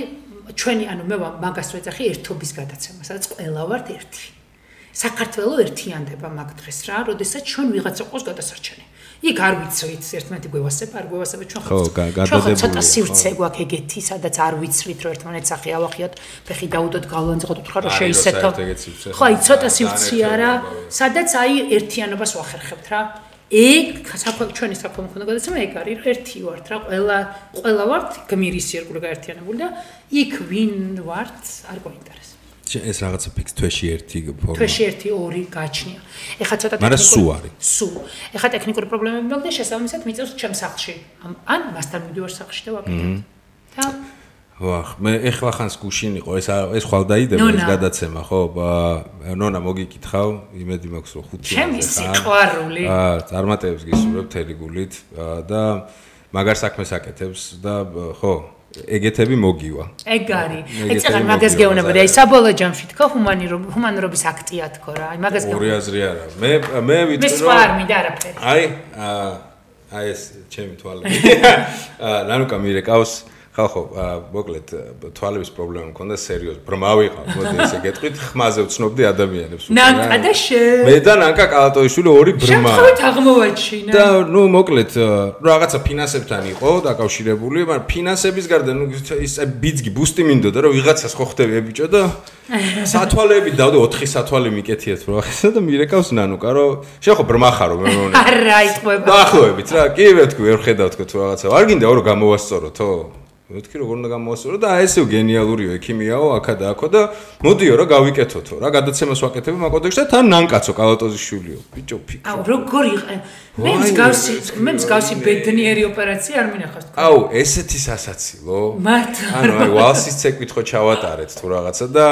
ჩვენი მე მაგას ვეძახი ერთობის გადაცემა, სადაც ყველა ვართ ერთი. საქართველოს ერთიანდება მაგ დღეს რა, როდესაც ჩვენ ვიღაცა ყავს გადასარჩენი. იქ არ ვიცით ერთმანეთი გვევასება, არ გვევასება ჩვენ ხო ცოტა სივრცე გვაქვს ეგეთი, სადაც არ ვიცით რომ ერთმანეთს სახე ავახიოთ, ფეხი დაუდოთ, გალვანზე უთხრა რომ შეისეთო. ხო, აი ცოტა სივრცეა რა, სადაც აი ერთიანობას ვახერხებთ რა. ეგ ჩვენი საქველმოქმედო გადაცემა ეგ არის, ერთი ვართ რა, ყველა ვართ გმირის ირგვლივ გაერთიანებული და იქ ვინ ვართ არ გვაინტერესებს. ეს რაღაცა ფიქს თვეში ერთი ფორმა. თვეში ერთი ორი გაჩნია. ეხლა ცოტა მაგრამ სულ არის. სულ. ეხლა ტექნიკური პრობლემები მაქვს და შესაბამისად მიწევს ჩემ სახლში. ან მასთან მივდივარ სახლში და ვაკეთებ. და ვახ, მე ეხლა ხანს გუშინ იყო ეს ხვალ დაიდება ეს გადაცემა, ხო? ნონა მოგიკითხავ, იმედი მაქვს რომ 5 ჩემი სიყვარული. წარმატებებს გისურვებ თელი გულით და მაგარ საქმეს აკეთებს და ხო ეგეთები მოგივა. ეგ არის. ეცეღარ მაგას გეუბნებოდი, აი საბოლოო ჯამში თქო ჰუმანურობის აქტია თქო რა. აი მაგას ორი აზრი არა. მე ვიტყვი რომ მე არ მინდა არაფერი. აი ეს ჩემი თვალები. ნანუკა მირეკავს ხალხო, მოკლედ თვალების პრობლემა მქონდა სერიოზ. ბრმა ვიყავ, მოდი ესე გეტყვით, ხმაზე ვცნობდი ადამიანებს. ნანკა და შენ. მე და ნანკა კალატოიშვილი ორი ბრმა. შემთხვევით აღმოვაჩინა. და მოკლედ რაღაცა ფინანსებთან იყო დაკავშირებული, მაგრამ ფინანსების გარდა ის ბიძგი ბუსტი მინდოდა რომ ვიღაცას ხო ხდები ებიჭო და სათვალეები დავდე 4 სათვალე მიკეთიეთ რა ხესა და მირეკავს ნანუკა რომ შენ ხო ბრმა ხარო მე მგონი. არა იტყვება. დაახლოებით რა, კი ვეთქვი ვერ ხედავ თქო თუ რაღაცა. არ გინდა რომ გამოვასწოროთო? მეთქი როგორ უნდა გამოვასწორო და ესეო გენიალურიო ექიმიაო აქა და აქო და მოდიო რა გავიკეთოთო რა გადაცემას ვაკეთებ მაგ კოდექსში და თან ნანკაცო კალატოზიშვილიო ბიჭო ფიქრო აუ როგორ იყენ მე მსგავსი ბედნიერი ოპერაცია არ მინახავს თქო აუ ესეთი სასაცილო მართლა ანუ აი ვალსის ცეკვით ხო ჩავატარეთ თუ რაღაცა და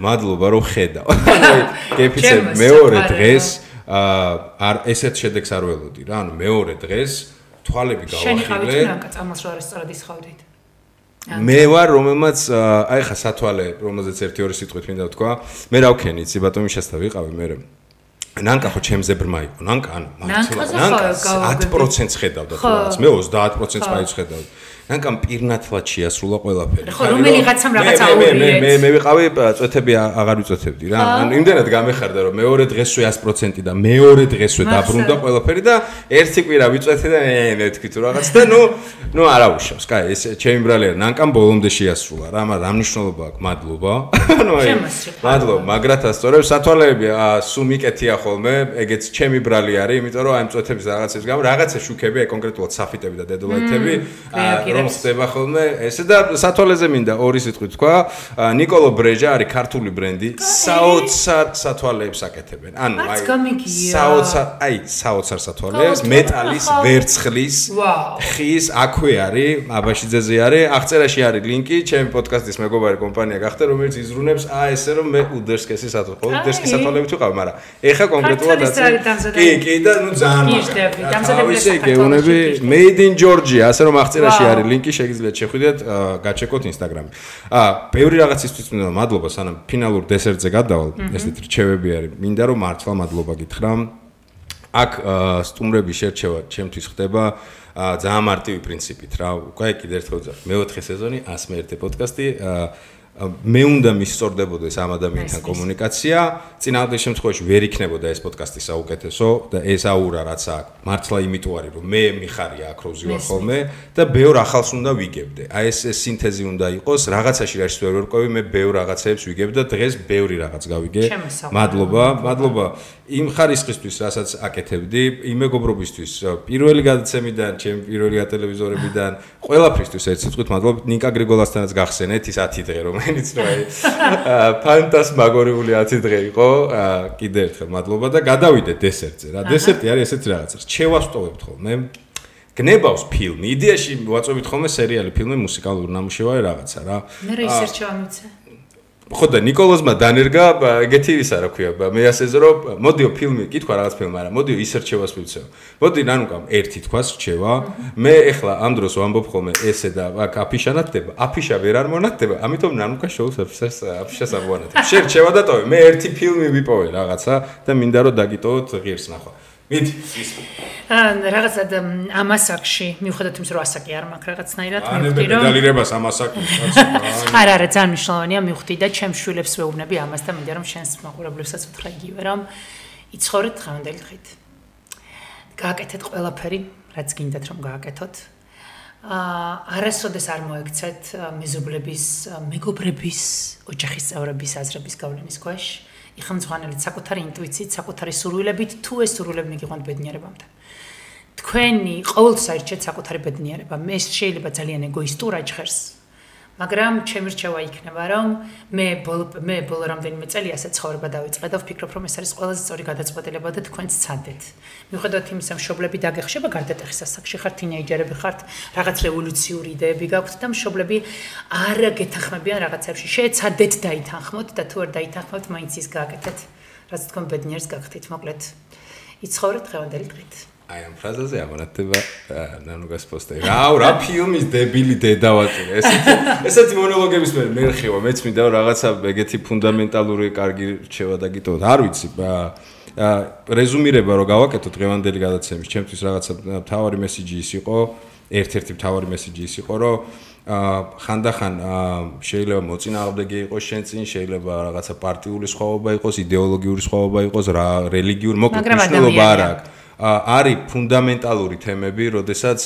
მადლობა რომ ხედავ აი გეფიცე მეორე დღეს არ ესეთ შედეგს არ ველოდი რა ანუ მეორე დღეს თვალები გავახილე შენი ხავით ნანკა წამალს რა არის სწორად ისხავდით მე ვარ რომელმაც აი ხა სათვალე რომელზეც 1-2 სიტყვით მინდა ვთქვა მე რა ვქენი იცი ბატონი შესაძლოა ვიყავი მე ნანკა ხო ჩემზე ბრმა იყო ნანკა ანუ მართლა 10% ხედავდა თუ რაღაც მე 30% მაინც ხედავდი ნანკამ პირნათლად შეასრულა ყველაფერი ხო რომელიღაცამ რაღაც აურიეთ მე ვიყავი წვეთები აღარ ვიწვეთებდი რა ანუ იმდენად გამეხარდა რომ მეორე დღესვე 100% და მეორე დღესვე დაბრუნდა ყველაფერი და ერთი კვირა ვიწვეთე და მე თქვი თუ რაღაც და ნუ არავუშავს კაი ეს ჩემი ბრალი არა ნანკამ ბოლომდე შეასრულა რა მაგრამ რა მნიშვნელობა აქვს მადლობა ანუ აი მადლობა მაგრათ ასწორებს სათვალეები სულ მიკეთია ხოლმე ეგეც ჩემი ბრალი არის იმიტომ რომ აი წვეთების რაღაცების გამო რაღაცა შუქები აი კონკრეტულად საფიტები და დედოლაიტები რომ ხდება ხოლმე ესე და სათვალეზე მინდა ორი სიტყვით თქვა ნიკოლო ბრეჟა არის ქართული ბრენდი საოცარ სათვალეებს აკეთებენ ანუ აი საოცარ სათვალეებს მეტალის ვერცხლის ხის აქვე არის აბაშიძეზე არის აღწერაში არის ლინკი ჩემი პოდკასტის მეგობარი კომპანია გახდა რომელიც იზრუნებს ესე რომ მე უდერსკესი სათვალეები თუ ყავ მაგრამ ეხა კონკრეტულად კი და ნუ ძალიან დამზადებული გეუნები made in Georgia ასე რომ აღწერაში არის ლინკი შეგიძლიათ შეხვიდეთ გაჩეკოთ ინსტაგრამი. ბევრი რაღაცისთვის მინდა მადლობა სანამ ფინალურ დესერტზე გადავალ. ესეთ რჩევები არის. მინდა რომ მართლა მადლობა გითხრა. აქ სტუმრების შერჩევა ჩემთვის ხდება ძალიან მარტივი პრინციპით რა. უკვე კიდევ ერთხელ ვძახ. მე 4 სეზონი 101 პოდკასტი მე უნდა მისწორდებოდეს ამ ადამიანთან კომუნიკაცია, წინააღმდეგ შემთხვევაში ვერ იქნებოდა ეს პოდკასტი საუკეთესო და ეს აურა რაც აქ მართლა იმიტომ არის რომ მე მიხარია აქ რო ვზივარ ხოლმე და ბევრ ახალს უნდა ვიგებდე. აი ეს სინთეზი უნდა იყოს, რაღაცაში რაც ვერ ვერკვევი, მე ბევრ რაღაცებს ვიგებ და დღეს ბევრი რაღაც გავიგე. მადლობა იმ ხარისხისთვის, რასაც აკეთებდი, იმ მეგობრობისთვის, პირველი გადაცემიდან, ჩემი პირველი ტელევიზორებიდან, ყველაფრისთვის ერთ სიტყვით მადლობა. ნიკა გრიგოლასთანაც გახსენეთ ის 10 დღე, რომელიც რო აი ფანტასმაგორიული 10 დღე იყო. კიდე ერთხელ მადლობა და გადავიდეთ დესერტზე. რა დესერტი არის ესეთი რაღაცა. რჩევას ვტოვებთ ხოლმე. გნებავს ფილმი. იდეაში ვაწვევით ხოლმე სერიალი, ფილმი, მუსიკალური ნამუშევარი რაღაცა რა. მე რა ის ერჩევა მიცე? ხო და ნიკოლოზმა დანერგა ეგეთი ისა რა ქვია მე ასეზე რომ მოდიო ფილმი კითხვა რაღაც ფილმი არა მოდიო ის რჩევას მივცეო მოდი ნანუკამ ერთი თქვას რჩევა მე ეხლა ამ დროს ვამბობ ხოლმე ესე და აქ აფიშა ნათდება აფიშა ვერ არ მონათდება ამიტომ ნანუკა შოუს აფიშას ამონათებ შენ რჩევა დატოვე მე ერთი ფილმი ვიპოვე რაღაცა და მინდა რომ დაგიტოვოთ ღირს ნახვა მიდი რაღაცა ამ ასაკში მიუხედავად იმისა რომ ასაკი არ მაქვს რაღაცნაირად მივხვდი რომ დალირებას ამ ასაკი არა ძალიან მნიშვნელოვანია მივხვდი და ჩემს შვილებს ვეუბნები ამას და მინდა რომ შენს მაყურებლებსაც უთხრა იგივე რომ იცხოვრეთ დღევანდელი დღით გააკეთეთ ყველაფერი რაც გინდათ რომ გააკეთოთ არასოდეს არ მოექცეთ მეზობლების მეგობრების ოჯახის წევრების აზრების გავლენის ქვეშ იხმძღვანელით საკუთარი ინტუიციით, საკუთარი სურვილებით, თუ ეს სურვილები მიგიყვანთ ბედნიერებამდე. თქვენი ყოველთვის აირჩიეთ საკუთარი ბედნიერება. მე შეიძლება ძალიან ეგოისტურად ჟღერს, მაგრამ ჩემი რჩევა იქნება, რომ მე ბოლო რამდენიმე წელი ასე ცხოვრება დავიწყე და ვფიქრობ, რომ ეს არის ყველაზე სწორი გადაწყვეტილება და თქვენც ცადეთ. მიუხედავად იმისა, მშობლები დაგეხშება გარდატეხის ასაკში ხართ, თინეიჯერები ხართ, რაღაც რევოლუციური იდეები გაქვთ და მშობლები არ გეთანხმებიან რაღაცებში. შეეცადეთ დაითანხმოთ და თუ არ დაითანხმოთ, მაინც ის გააკეთეთ, რაც თქვენ ბედნიერს გახდით. მოკლედ, იცხოვრეთ დღევანდელი დღით. აი ამ ფრაზაზე ამონათდება ნანუგას პოსტერი. რა ფილმის დებილი დედა ვაწირე. ესეთი მონოლოგების მე რხევა, მეც მინდა რაღაცა ეგეთი ფუნდამენტალური კარგი რჩევა დაგიტოვოთ. არ ვიცი, რეზუმირება რო გავაკეთო დღევანდელი გადაცემის, ჩემთვის რაღაცა მთავარი მესიჯი ის იყო, ერთ-ერთი მთავარი მესიჯი ის იყო, რომ ხანდახან შეიძლება მოწინააღმდეგე იყოს შენ წინ, შეიძლება რაღაცა პარტიული სხვაობა იყოს, იდეოლოგიური სხვაობა იყოს, რელიგიური, მოკლედ მნიშვნელობა არ აქვს. არის ფუნდამენტალური თემები, როდესაც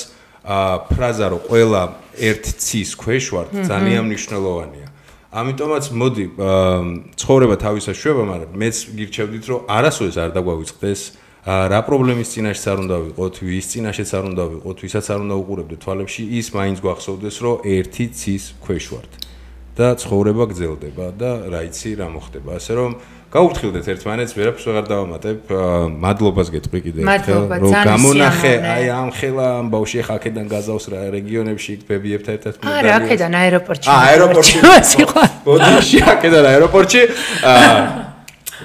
ფრაზა რომ ყველა ერთ ცის ქვეშ ვართ, ძალიან მნიშვნელოვანია. ამიტომაც მოდი ცხოვრება თავისას შვება, მაგრამ მეც გირჩევდით რომ არასოდეს არ დაგვავიწყდეს რა პრობლემის წინაშეც არ უნდა ვიყოთ, ვის წინაშეც არ უნდა ვიყოთ, ვისაც არ უნდა უყურებდეთ თვალებში, ის მაინც გვახსოვდეს რომ ერთი ცის ქვეშ ვართ და ცხოვრება გრძელდება და რა იცი რა მოხდება, ასე რომ გაუფრთხილდეთ ერთმანეთს, ვერაფერს ვეღარ დავამატებ. მადლობას გეტყვი კიდევ ერთხელ, რომ გამონახე აი ამ ხელა ამ ბავშვი ხა აქედან გაზავს რა რეგიონებში ბებიებთან ერთად მოდარია. არა, აქედან აეროპორტში. აეროპორტში. ბოდიში აქედან აეროპორტში.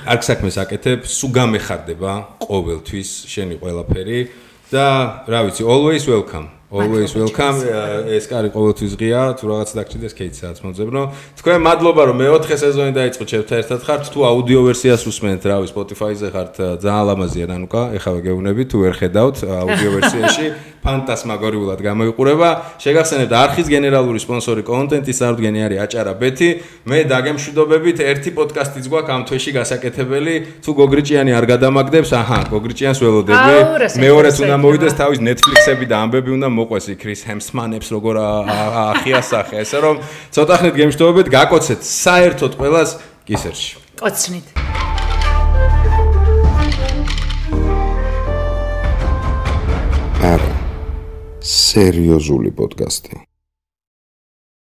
აქ საქმეს აკეთებ, სულ გამეხარდება ყოველთვის შენი ყველაფერი და რა ვიცი, always welcome. Always welcome. ეს კარი ყოველთვის ღია, თუ რაღაც დაგჭირდეს კეითსაც მოძებნო. თქვენ მადლობა რომ მე-4 სეზონი დაიწყო ჩემთან ერთად ხართ, თუ აუდიო ვერსიას უსმენთ, რავი, Spotify-ზე ხართ, ძალიან ლამაზია ნანუკა, ეხლა გეუბნებით, თუ ვერ ხედავთ აუდიო ვერსიაში, ფანტასმაგორიულად გამოიყურება. შეგახსენებთ არხის გენერალური სპონსორი კონტენტის წარმოდგენი არის აჭარა ბეთი. მე დაგემშვიდობებით, ერთი პოდკასტიც გვაქვს ამ თვეში გასაკეთებელი, თუ გოგრიჭიანი არ გადამაგდებს, აჰა, გოგრიჭიანს ველოდები. მეორეც უნდა მოვიდეს თავის Netflix-ები და ამბები უნდა მოყვეს იქ ჰემსმანებს როგორ ახიასახე, ესე რომ ცოტა ხნით გემშვიდობებით, გაკოცეთ საერთოდ ყველას კისერში. კოცნით. არა. სერიოზული პოდკასტი.